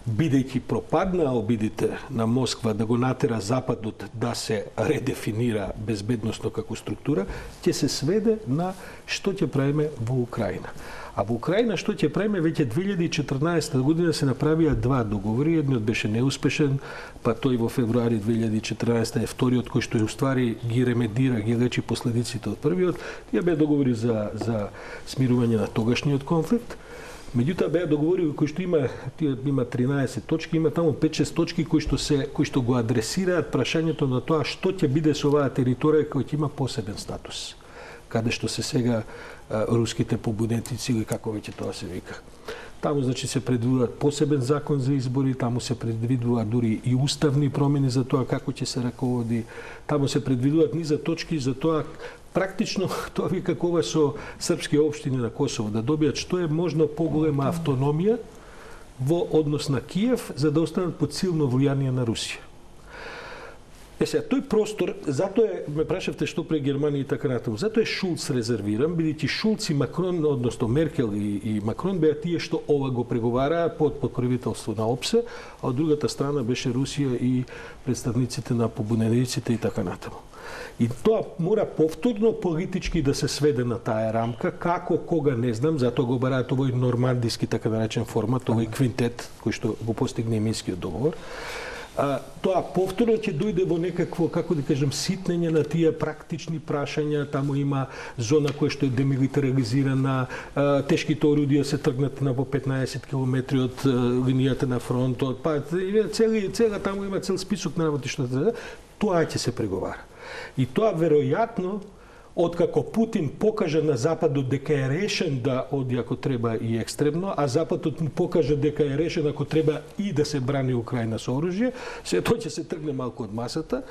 бидејќи пропаднаа обидите на Москва да го натера Западот да се редефинира безбедносно како структура, ќе се сведе на што ќе правиме во Украина. А во Украина што ќе правиме, веќе две илјади и четрнаесета година се направија два договори, едниот беше неуспешен, па тој во февруари две илјади и четрнаесета е вториот кој што уствари ги ремедира, ги лечи последиците од првиот. Тие беа договори за за смирување на тогашниот конфликт. Меѓутоа беа договори кои што има тие има тринаесет точки, има таму пет-шест точки кои што се кои што го адресираат прашањето на тоа што ќе биде со оваа територија која ќе има посебен статус, каде што се сега а, руските побунетници или како веќе тоа се вика. Таму значи се предвидуваат посебен закон за избори, таму се предвидуваат дури и уставни промени за тоа како ќе се раководи, таму се предвидуваат низа точки за тоа практично тоа ви какова со српски општини на Косово да добијат што е можно поголема автономија во однос на Киев за да останат под силно влијание на Русија. Е сега, тој простор, затоа е, ме прашавте што пре Германија и така натаму, затоа е Шулц резервиран, бидејќи Шулц и Макрон, односно Меркел и, и Макрон беа тие што ова го преговараа под покровителство на ОПСЕ, а од другата страна беше Русија и представниците на побунениците и така натаму. И тоа мора повторно политички да се сведе на таа рамка, како, кога не знам, затоа го бараат овој нормандиски така наречен формат, овој квинтет кој што го постигне Минскиот договор. А, тоа повторно ќе дојде во некакво, како да кажем, ситнење на тие практични прашања, таму има зона која што е демилитаризирана, а, тешките орудија се тргнат на по петнаесет километри од а, линијата на фронтот, па цели, цела таму има цел список на работи што тоа ќе се преговара. И тоа веројатно откако Путин покажа на Западот дека е решен да оди ако треба и екстремно, а Западот му покажа дека е решен ако треба и да се брани Украина со оружје, се тој ќе се тргне малку од масата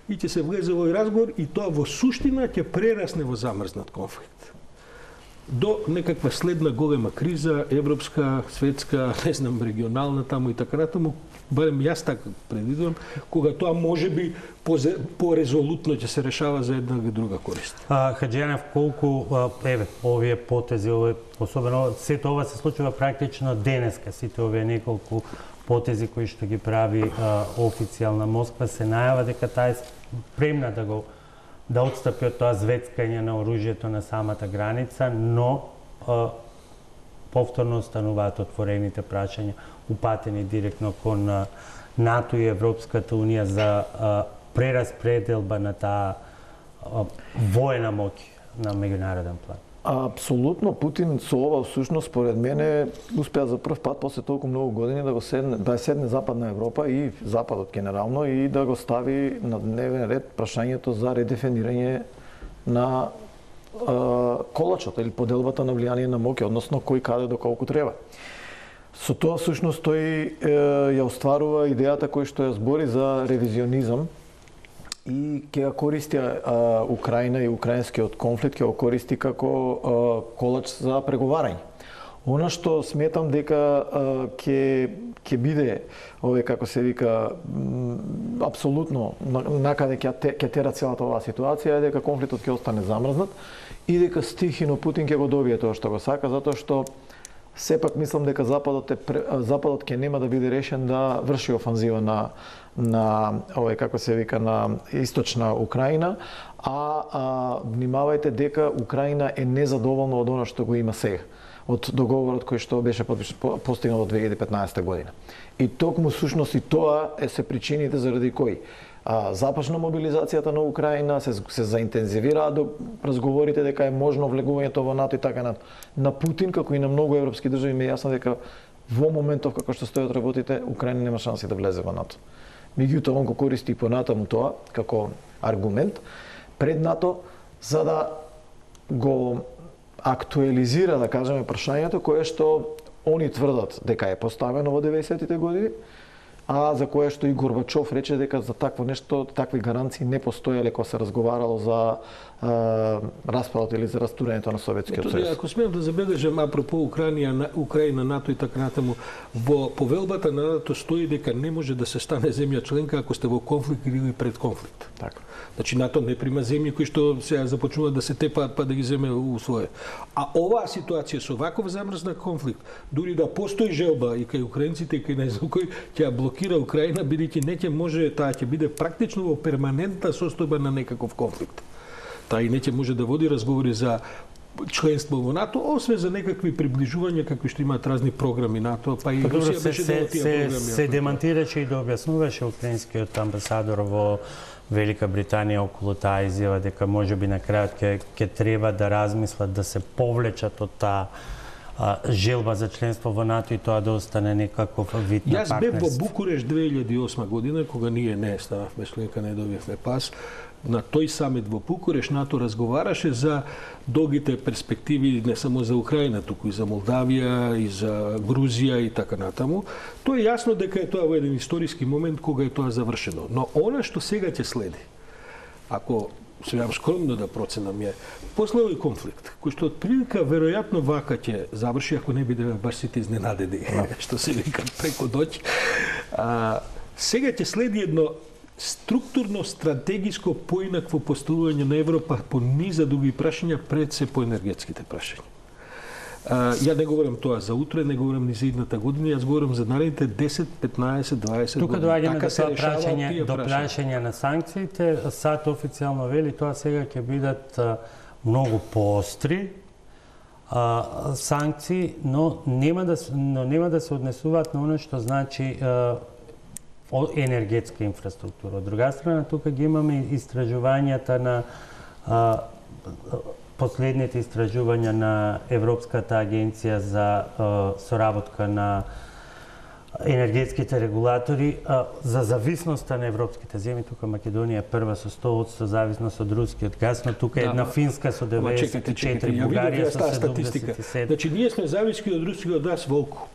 и ќе се влезе во разговор и тоа во суштина ќе прерасне во замрзнат конфликт. До некаква следна голема криза, европска, светска, не знам, регионална таму и така натаму, барем јас така предвидувам, кога тоа може би по-резолутно ќе се решава за една или друга корист. А, Хаджијанов, колку, еве, овие потези, овие, особено, сето ова се случува практично денеска, сите овие неколку потези кои што ги прави а, официјална Москва, се најава дека таа е спремна да го да отстапи од тоа звецкање на оружјето на самата граница, но а, повторно остануваат отворените прашања упатени директно кон а, НАТО и Европската Унија за а, прераспределба на таа а, воена моќ на меѓународен план. Апсолутно, Путин со ова всушност според мене успеа за прв пат после толку многу години да го седне, да седне Западна Европа и Западот генерално и да го стави на дневен ред прашањето за редефинирање на а, колачот или поделбата на влијание на моќ, односно кој каде до колку треба. Со тоа всушност тој е, ја остварува идејата кој што ја збори за ревизионизам и ќе ја користи а, Украина и украинскиот конфликт ќе го користи како а, колач за преговарање. Она што сметам дека ќе ќе биде овој како се вика апсолутно накаде ќе ќе тера целата оваа ситуација е дека конфликтот ќе остане замрзнат и дека стихино Путин ќе го добие тоа што го сака, затоа што сепак мислам дека Западот е Западот ќе нема да биде решен да врши офанзива на на овој како се вика на источна Украина, а, а внимавајте дека Украина е незадоволна од она што го има сега, од договорот кој што беше постигнат во две илјади и петнаесета година. И токму сушност и тоа е се причините заради кои а, започна мобилизацијата на Украина, се, се заинтензивираа до разговорите дека е можно влегувањето во НАТО и така на на Путин како и на многу европски држави ме јасно дека во моментов како што стојат работите Украина нема шанси да влезе во НАТО. Меѓутоа он го користи и понатаму тоа како аргумент пред НАТО за да го актуализира, да кажеме, прашањето кое што они тврдат дека е поставено во деветдесетите години, а за кое што и Горбачов рече дека за такво нешто, такви гаранции не постоеле кога се разговарало за а, распадот или за растурањето на Советскиот сојуз. Ако смеам да забележам апропо Украина, Украина, НАТО и така натаму, во повелбата на НАТО стои дека не може да се стане земја членка ако сте во конфликт или пред конфликт. Така. Значи НАТО не прима земји кои што сега започнуваат да се тепаат па да ги земе у своје. А оваа ситуација со ваков замрзнат конфликт, дури да постои желба и кај украинците и кај не знам кој ќе блокира Украина, бидејќи не ќе може, таа ќе биде практично во перманентна состојба на некаков конфликт. Таа и не ќе може да води разговори за членство во НАТО, освен за некакви приближувања какви што имаат разни програми НАТО, па и Русија беше дел од тие програми. Се демантираше и да објаснуваше украинскиот амбасадор во Велика Британија околу таа изјава дека можеби на крајот ќе ќе треба да размислат да се повлечат од таа а, желба за членство во НАТО и тоа да остане некаков вид на партнерство. Јас бев во Букуреш две илјади и осма година кога ние не станавме членка, не добивме пас. На тој самит во Букуреш НАТО разговараше за долгите перспективи не само за Украина, туку и за Молдавија, и за Грузија и така натаму. Тоа е јасно дека е тоа во еден историски момент кога е тоа завршено. Но она што сега ќе следи, ако сега скромно да проценам е, после овој конфликт, кој што отприлика веројатно вака ќе заврши, ако не биде баш сите изненадени, што се вика преко ноќ, а, сега ќе следи едно структурно стратегиско поинакво поставување на Европа по низа други прашања пред се по енергетските прашања. А, ја не говорам тоа за утре, не говорам ни за идната година, јас говорам за наредните десет, петнаесет, дваесет Тука години. доаѓаме до тоа прашање, до прашања. прашање на санкциите. САД официјално вели тоа сега ќе бидат а, многу поостри а, санкции, но нема да но нема да се однесуваат на оно што значи а, енергетска инфраструктура. Од друга страна, тука ги имаме истражувањата на а, последните истражувања на Европската агенција за а, соработка на енергетските регулатори а, за зависноста на европските земји. Тука Македонија е прва со сто одсто зависност од рускиот газ, но тука е една да, Финска со деветдесет и четири, Бугарија со седумдесет и седум. Значи, ние сме зависки од рускиот газ волку,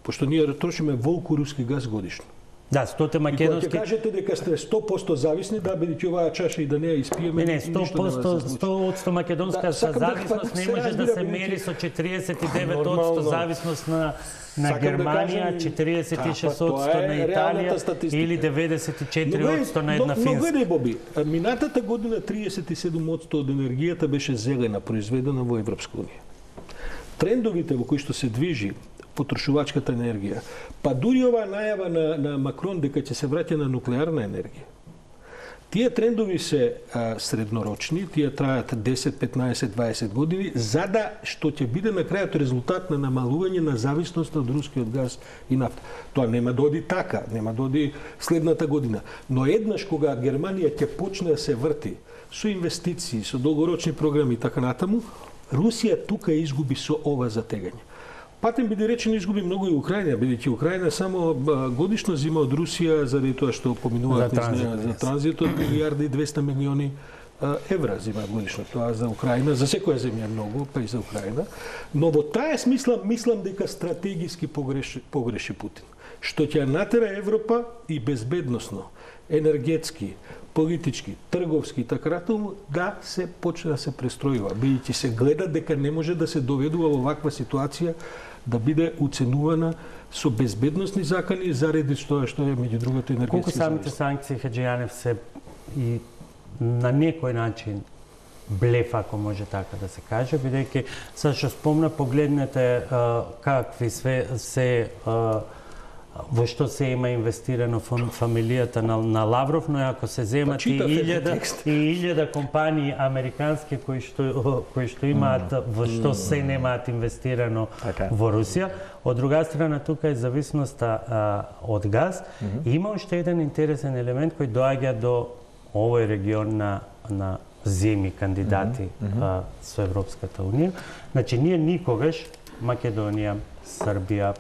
пошто ние трошиме волку руски газ годишно. Да, стоте македонски... И кога ќе кажете дека сте сто посто зависни, да, бидејќи оваа чаша и да не ја испиеме... Не, не, сто посто, сто одсто македонска да, зависност не може да се мери со четириесет и девет одсто зависност на на Германија, четириесет и шест одсто на Италија или деветдесет и четири одсто на една Финска. Но гледај, Боби, минатата година триесет и седум одсто од енергијата беше зелена, произведена во Европска унија. Трендовите во кои што се движи потрошувачката енергија, па дури оваа најава на, на Макрон дека ќе се враќа на нуклеарна енергија. Тие трендови се а, среднорочни, тие траат десет, петнаесет, дваесет години, за да што ќе биде на крајот резултат на намалување на зависност од рускиот газ и нафта. Тоа нема да оди така, нема да оди следната година. Но еднаш кога Германија ќе почне да се врти со инвестиции, со долгорочни програми и така натаму, Русија тука изгуби со ова затегање. Патем биде речено изгуби многу и Украина, бидејќи Украина само годишно зима од Русија заради тоа што поминуваат за, за транзитот милијарда и двесте милиони евра зима годишно. Тоа за Украина, за секоја земја многу, па и за Украина. Но во таа смисла мислам дека стратегиски погреши, погреши Путин. Што ќе натера Европа и безбедносно, енергетски, политички, трговски и така натаму да се почне да се престројува. Бидејќи се гледа дека не може да се доведува во ваква ситуација да биде уценувана со безбедносни закани заради тоа што е меѓу другото енергетски. Колку самите санкции, Хаџијанев, се и на некој начин блеф, ако може така да се каже, бидејќи се што спомна, погледнете а, какви све се а, во што се има инвестирано фамилијата на, на Лавров, но ако се земат и илјада и илјада компании американски кои што кои што имаат mm. во што mm. се немаат инвестирано okay. во Русија, од друга страна тука е зависноста а, од газ. Mm -hmm. Има уште еден интересен елемент кој доаѓа до овој регион на на земји кандидати mm -hmm. а, со Европската унија. Значи ние никогаш Македонија, Србија,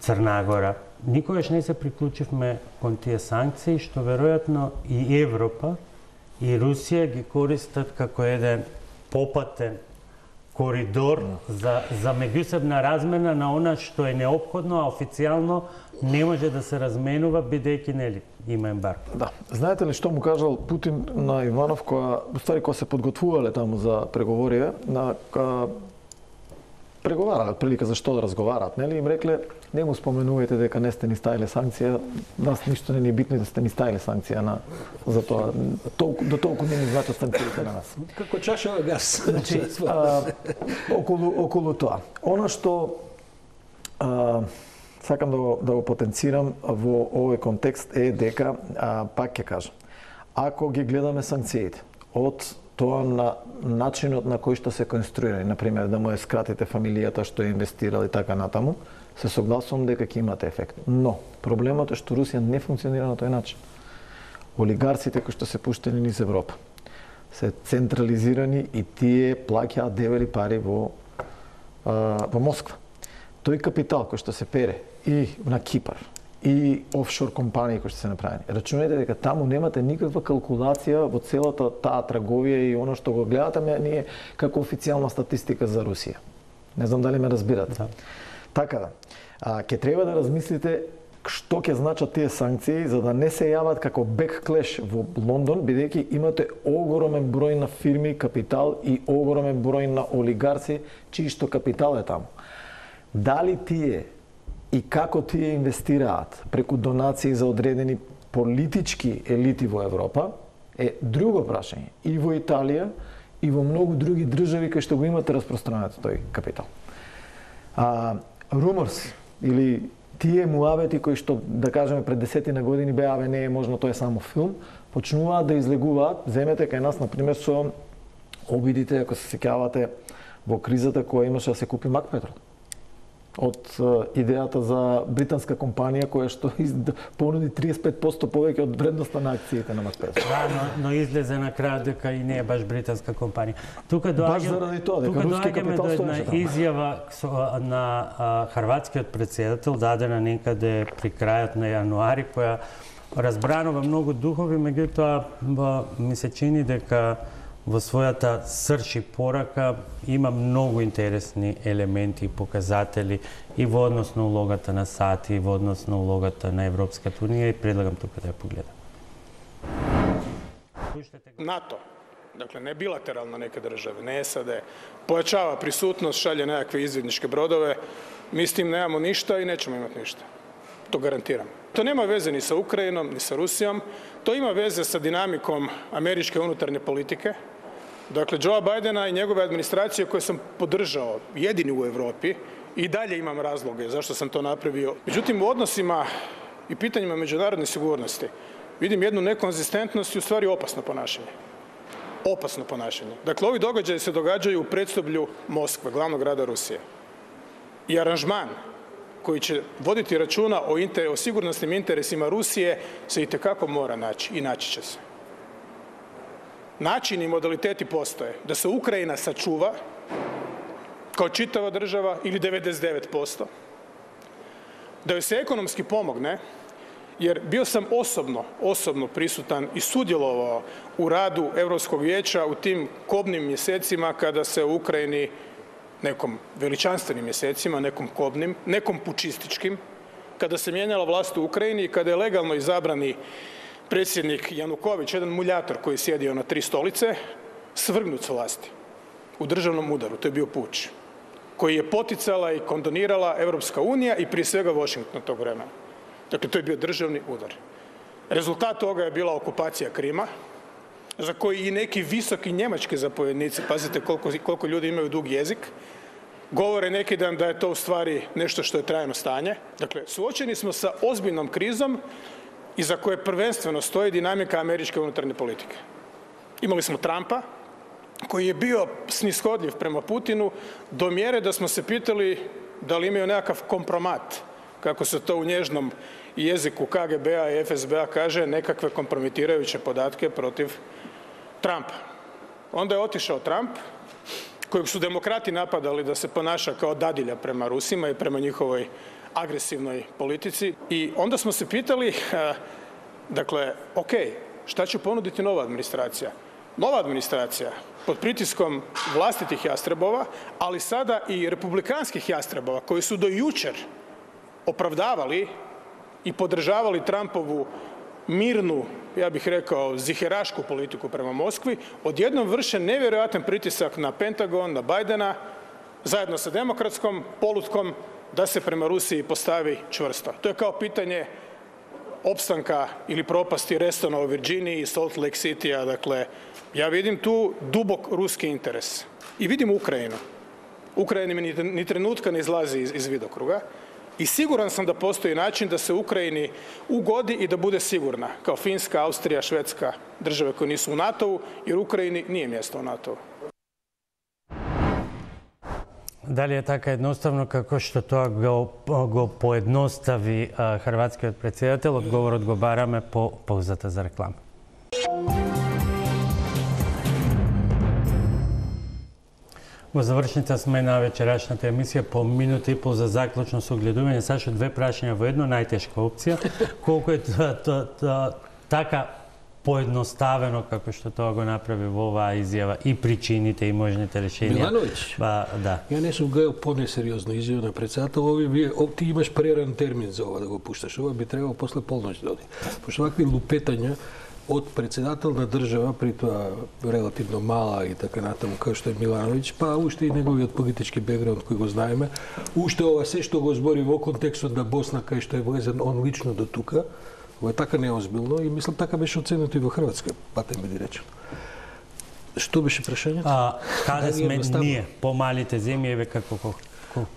Црна Гора, никогаш не се приклучивме кон тие санкции, што веројатно и Европа и Русија ги користат како еден попатен коридор за, за меѓусебна размена на она што е неопходно, а официјално не може да се разменува бидејќи нели има ембарго. Да. Знаете ли што му кажал Путин на Иванов која, ствари кога се подготвувале таму за преговориве, на ка, преговарале прилика за што да разговараат, нели им рекле не му споменувајте дека не сте ни ставиле санкција, нас ништо не ни е битно да сте ни ставиле санкција на за тоа. Толку до толку не ни значат санкциите на нас. Како чаша на газ. Значи, а, околу околу тоа. Она што а, сакам да го, да го потенцирам во овој контекст е дека, а, пак ќе кажам, ако ги гледаме санкциите од тоа на начинот на кој што се конструирани, например да му е скратите фамилијата што е инвестирал и така натаму, се согласувам дека ќе имате ефект. Но проблемот е што Русија не функционира на тој начин. Олигарсите кои што се пуштени низ Европа се централизирани и тие плаќаат дебели пари во а, во Москва. Тој капитал кој што се пере и на Кипар и офшор компании кои што се направени. Рачунајте дека таму немате никаква калкулација во целата таа трговија и оно што го гледате ме ние како официјална статистика за Русија. Не знам дали ме разбирате. Да. Така да, а, ќе треба да размислите што ќе значат тие санкции за да не се јават како бекклеш во Лондон, бидејќи имате огромен број на фирми, капитал и огромен број на олигарси чии што капитал е таму. Дали тие и како тие инвестираат преку донации за одредени политички елити во Европа е друго прашање. И во Италија и во многу други држави кај што го имате распространет тој капитал. А, Rumors или тие муабети кои што, да кажеме, пред десетина години беа, абе не е можно, тоа е само филм, почнуваат да излегуваат. Земете кај нас, например, со обидите, ако се сеќавате, во кризата која имаше да се купи Макпетрол. Од идејата за британска компанија која што понуди триесет и пет проценти повеќе од вредноста на акциите на Макпетрол. Да, но, но излезе на крај дека и не е баш британска компанија. Тука доаѓаме баш заради тоа дека руски капитал до стоеше таму. изјава на а, хрватскиот претседател дадена некаде при крајот на јануари која разбранува многу духови, меѓутоа ми се чини дека во својата срж и порака има многу интересни елементи и показатели и во однос на улогата на САД и во однос на улогата на Европската унија и предлагам тука да ја погледам. НАТО, dakle ne bilateralno neke države, ne SAD, pojačava prisutnost, šalje nekakve izvidničke brodove, mi s tim nemamo ništa i nećemo imati ništa. To garantiram. To nema veze ni sa Ukrajinom, ni sa Rusijom, to ima veze sa dinamikom američke unutarnje politike. Dakle, Joea Bidena i njegove administracije koje sam podržao, jedini u Evropi, i dalje imam razloge zašto sam to napravio. Međutim, u odnosima i pitanjima međunarodne sigurnosti vidim jednu nekonzistentnost i u stvari opasno ponašanje. Opasno ponašanje. Dakle, ovi događaji se događaju u predstoblju Moskve, glavnog grada Rusije. I aranžman koji će voditi računa o, inter, o sigurnosnim interesima Rusije se itekako mora naći i naći će se. Načini i modaliteti postoje da se Ukrajina sačuva kao čitava država ili devedeset devet posto, da joj se ekonomski pomogne, jer bio sam osobno, osobno prisutan i sudjelovao u radu Europskog vijeća u tim kobnim mjesecima kada se u Ukrajini, nekom veličanstvenim mjesecima, nekom kobnim, nekom pučističkim, kada se mijenjala vlast u Ukrajini i kada je legalno izabrani predsjednik Januković, jedan muljator koji je sjedio na tri stolice, svrgnut s vlasti u državnom udaru. To je bio puč koji je poticala i kondonirala Europska unija i prije svega Washington tog vremena. Dakle, to je bio državni udar. Rezultat toga je bila okupacija Krima, za koji i neki visoki njemački zapovjednici, pazite koliko, koliko ljudi imaju dug jezik, govore neki dan da je to u stvari nešto što je trajno stanje. Dakle, suočeni smo sa ozbiljnom krizom iza koje prvenstveno stoji dinamika američke unutarnje politike. Imali smo Trumpa, koji je bio snishodljiv prema Putinu do mjere da smo se pitali da li imaju nekakav kompromat, kako se to u nježnom jeziku K G B-a i F S B-a kaže, nekakve kompromitirajuće podatke protiv Trumpa. Onda je otišao Trump, kojeg su demokrati napadali da se ponaša kao dadilja prema Rusima i prema njihovoj agresivnoj politici. I onda smo se pitali, dakle, ok, šta će ponuditi nova administracija? nova administracija pod pritiskom vlastitih jastrebova, ali sada i republikanskih jastrebova koji su do jučer opravdavali i podržavali Trumpovu mirnu, ja bih rekao, ziherašku politiku prema Moskvi, odjednom vrše nevjerojatan pritisak na Pentagon, na Bajdena, zajedno sa demokratskom polutkom, da se prema Rusiji postavi čvrsto. To je kao pitanje opstanka ili propasti Restona u Virginiji i Salt Lake City-a. Dakle, ja vidim tu dubok ruski interes. I vidim Ukrajinu. Ukrajina mi ni trenutka ne izlazi iz, iz vidokruga. I siguran sam da postoji način da se Ukrajini ugodi i da bude sigurna, kao Finska, Austrija, Švedska, države koje nisu u NATO-u, jer Ukrajini nije mjesto u NATO-u. Дали е така едноставно како што тоа го, го поедностави а, хрватскиот претседател? Одговорот го бараме по паузата за реклама. Во завршница сме на вечерашната емисија по минута и пол за заклучно согледување. Сашо, две прашања во едно, најтешка опција. Колку е тоа, тоа, тоа, така поедноставено како што тоа го направи во оваа изјава и причините и можните решенија? Милановиќ, ба, да. ја не сум гледал понесериозно изјава на председател. Ови вие, ти имаш преран термин за ова да го пушташ. Ова би требало после полноќ да оди. Пошто вакви лупетања од председател на држава, при тоа релативно мала и така натаму, како што е Милановиќ, па уште и неговиот политички бекграунд кој го знаеме, уште ова се што го збори во контекстот на Босна, кај што е влезен он лично до тука, ова е така неозбилно и мислам така беше оценето и во Хрватска, патем биде речено. Што беше прашањето? А, каде да сме ние, помалите земји, еве како по,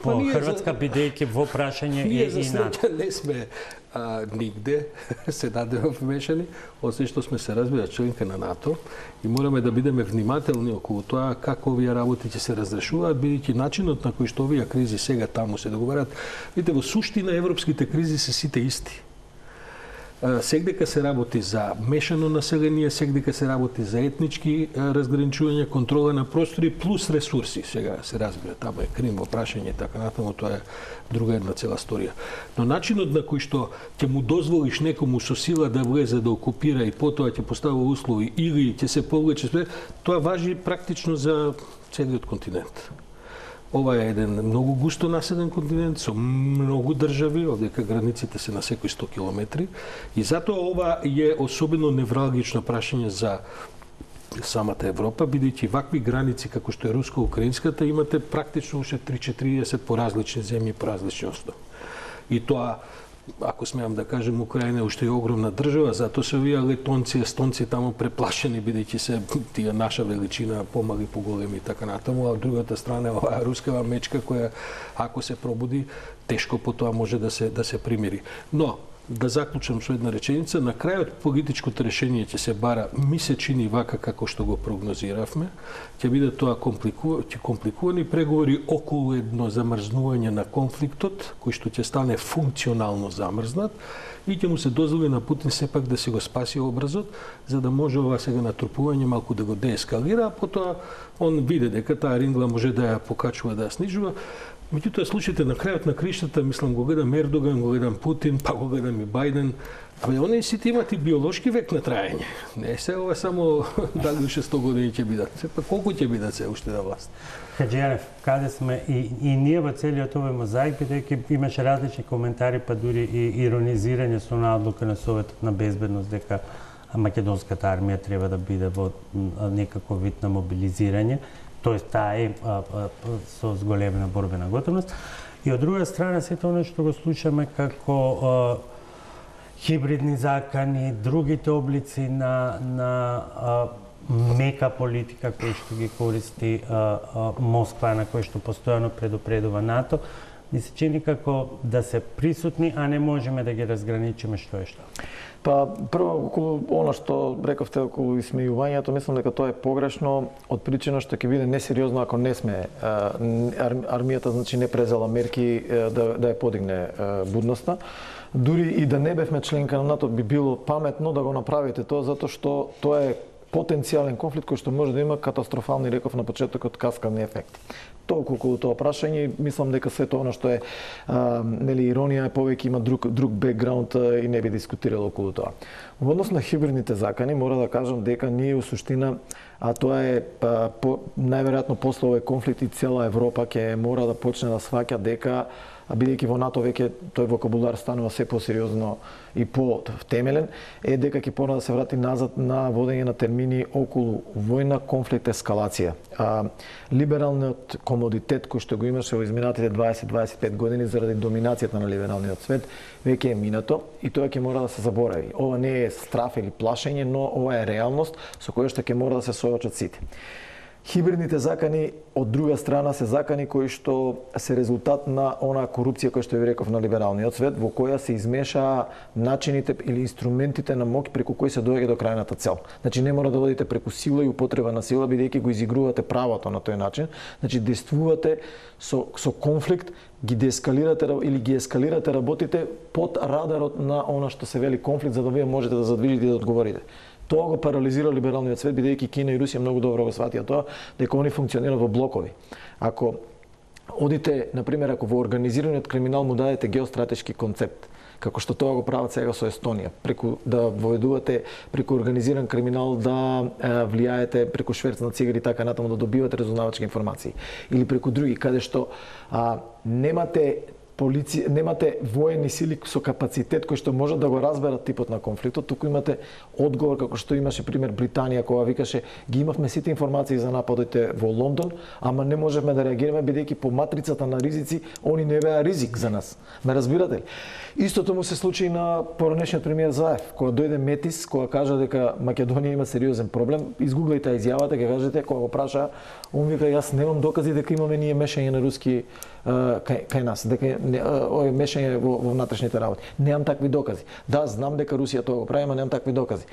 по Хрватска за... бидејќи во прашање ние и, за и НАТО? не сме а, нигде се дадеме вмешани, освен што сме се разбира членка на НАТО и мораме да бидеме внимателни околу тоа како овие работи ќе се разрешуваат, бидејќи начинот на кој што овие кризи сега таму се договарат, видите, во суштина европските кризи се сите исти. Сегдека се работи за мешано население, сегдека се работи за етнички разграничување, контрола на простори плюс ресурси. Сега се разбира, таму е Крим во прашање и така натаму, тоа е друга една цела сторија. Но начинот на кој што ќе му дозволиш некому со сила да влезе да окупира и потоа ќе поставува услови или ќе се повлече, тоа важи практично за целиот континент. Ова е еден многу густо населен континент со многу држави, одека границите се на секои сто километри и затоа ова е особено невралгично прашање за самата Европа, бидејќи вакви граници како што е руско-украинската имате практично уште три-четириесет по различни земји, по различни основи. И тоа, ако смеам да кажем, Украина е уште е огромна држава, затоа се овие летонци, естонци таму преплашени, бидејќи се тие наша величина, помали, поголеми и така натаму, а од другата страна оваа рускава мечка која, ако се пробуди, тешко потоа може да се да се примири. Но да заклучам со една реченица, на крајот политичкото решение ќе се бара, ми се чини вака како што го прогнозиравме, ќе биде тоа комплику... компликувани преговори околу едно замрзнување на конфликтот, кој што ќе стане функционално замрзнат и ќе му се дозволи на Путин сепак да си го спаси образот, за да може ова сега натрупување малку да го деескалира, а потоа он види дека таа рингла може да ја покачува, да ја снижува. Меѓутоа, случаите на крајот на криштата, мислам, го гледам Ердоган, го гледам Путин, па го гледам и Бајден, абе, оние сите имат и биолошки век на траење. Не се ова само дали уште сто години ќе бидат. Сепа колку ќе бидат се уште на власт? Хаџијанев, каде сме и, и ние во целиот овој мозаик, бидејќи имаше различни коментари, па дури и иронизирање со на одлука на Советот на безбедност дека македонската армија треба да биде во некаков вид на мобилизирање, тоест таа е а, а, со зголемена борбена готовност. И од друга страна, сето оно што го слушаме како а, хибридни закани, другите облици на, на а, мека политика кој што ги користи а, а, Москва, на кој што постојано предупредува НАТО, ми се чини како да се присутни, а не можеме да ги разграничиме што е што. Па, прво, околу оно што рековте околу исмејувањето, мислам дека тоа е погрешно од причина што ќе биде несериозно ако не сме армијата, значи не презела мерки да, да ја подигне будноста. Дури и да не бевме членка на НАТО, би било паметно да го направите тоа, затоа што тоа е потенцијален конфликт кој што може да има катастрофални, реков на почетокот, каскадни ефекти. Толку околу тоа прашање, мислам дека сето она што е а, нели иронија е повеќе има друг друг бекграунд и не би дискутирал околу тоа. Во однос на хибридните закани мора да кажам дека ние у суштина, а тоа е а, по, најверојатно после овој конфликт и цела Европа ќе мора да почне да сваќа дека, бидејќи во НАТО веќе тој вокабулар станува се посериозно и по-темелен, е дека ќе пора да се врати назад на водење на термини околу војна, конфликт, ескалација. А, либералниот комодитет кој што го имаше во изминатите дваесет до дваесет и пет години заради доминацијата на либералниот свет веќе е минато и тоа ќе мора да се заборави. Ова не е страф или плашење, но ова е реалност со која што ќе мора да се соочат сите. Хибридните закани, од друга страна, се закани кои што се резултат на онаа корупција која што ви реков на либералниот свет, во која се измешаа начините или инструментите на моќ преку кои се доаѓа до крајната цел. Значи не мора да одите преку сила и употреба на сила, бидејќи го изигрувате правото на тој начин. Значи действувате со со конфликт, ги деескалирате или ги ескалирате работите под радарот на она што се вели конфликт, за да вие можете да задвижите и да одговорите. Тоа го парализира либералниот свет, бидејќи Кина и Русија многу добро го сватија тоа, дека они функционираат во блокови. Ако одите, например, ако во организираниот криминал му дадете геостратешки концепт, како што тоа го прават сега со Естонија, преку да воведувате преку организиран криминал да е, влијаете преку шверц на цигари така натаму да добивате разузнавачки информации, или преку други каде што а, немате полиција, немате воени сили со капацитет кој што можат да го разберат типот на конфликтот, туку имате одговор како што имаше пример Британија кога викаше ги имавме сите информации за нападите во Лондон, ама не можевме да реагираме бидејќи по матрицата на ризици они не беа ризик за нас. Ме разбирате ли? Истото му се случи на поранешниот премиер Заев, кога дојде Метис, кога кажа дека Македонија има сериозен проблем, изгуглајте изјавата, ќе кажете кога го праша, он вика јас немам докази дека имаме ние мешање на руски кај, кај нас, дека овој мешање во, во внатрешните работи. Немам такви докази. Да, знам дека Русија тоа го прави, ама немам такви докази.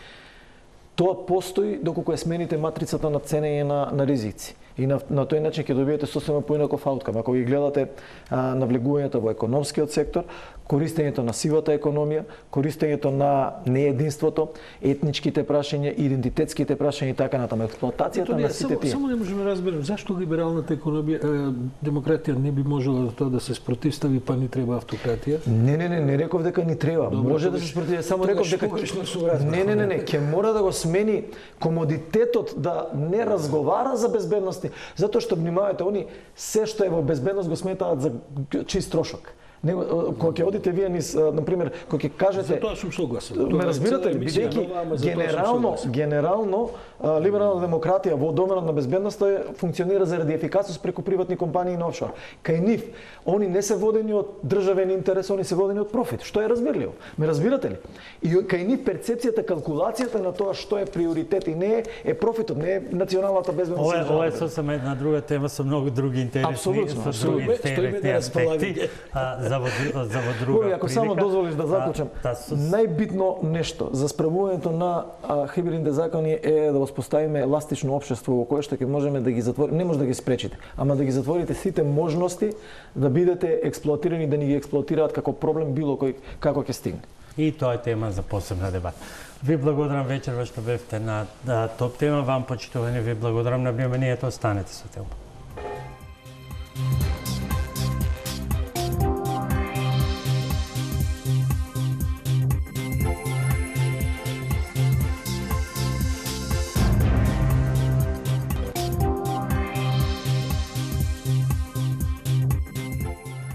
Тоа постои доколку ја смените матрицата на ценење на, на ризици. И на, на тој начин ќе добиете сосема поинаков ауткам. Ако ги гледате а, навлегувањето во економскиот сектор, користењето на сивата економија, користењето на неединството, етничките прашања, идентитетските прашања и така натаму, експлоатацијата на сите тие. Само не можеме да разберем зашто либералната економија, демократија не би можела тоа да се спротивстави, па ни треба автократија? Не, не, не, не реков дека ни треба. Добро, може да се спротивстави, само реков дека не, не, не, не, ќе мора да го смени комодитетот да не разговара за безбедност, затоа што внимавајте, они се што е во безбедност го сметаат за чист трошок. Него кога ќе одите вие низ, на пример, кога ќе кажете, за тоа сум согласен. Ме разбирате ли, бидејќи генерално генерално либерална демократија во доменот на безбедноста функционира заради ефикасност преку приватни компании на офшор. Кај нив они не се водени од државен интерес, они се водени од профит, што е разбирливо. Ме разбирате ли? И кај нив перцепцијата, калкулацијата на тоа што е приоритет и не е, е профитот, не е националната безбедност. Ова, ова е сосема една друга тема со многу други интересни, со други интересни аспекти. За во, за во друга Ако прилика, само дозволиш да заклучам, да, сос... најбитно нешто за справувањето на а, хибридните закони е да воспоставиме еластично општество во кое што ќе можеме да ги затвориме, не може да ги спречите, ама да ги затворите сите можности да бидете експлоатирани, да ни ги експлоатираат како проблем било кој како ќе стигне. И тоа е тема за посебна дебата. Ви благодарам вечерва што бевте на да, топ тема, вам почитувани, ви благодарам на вниманието, останете со тема.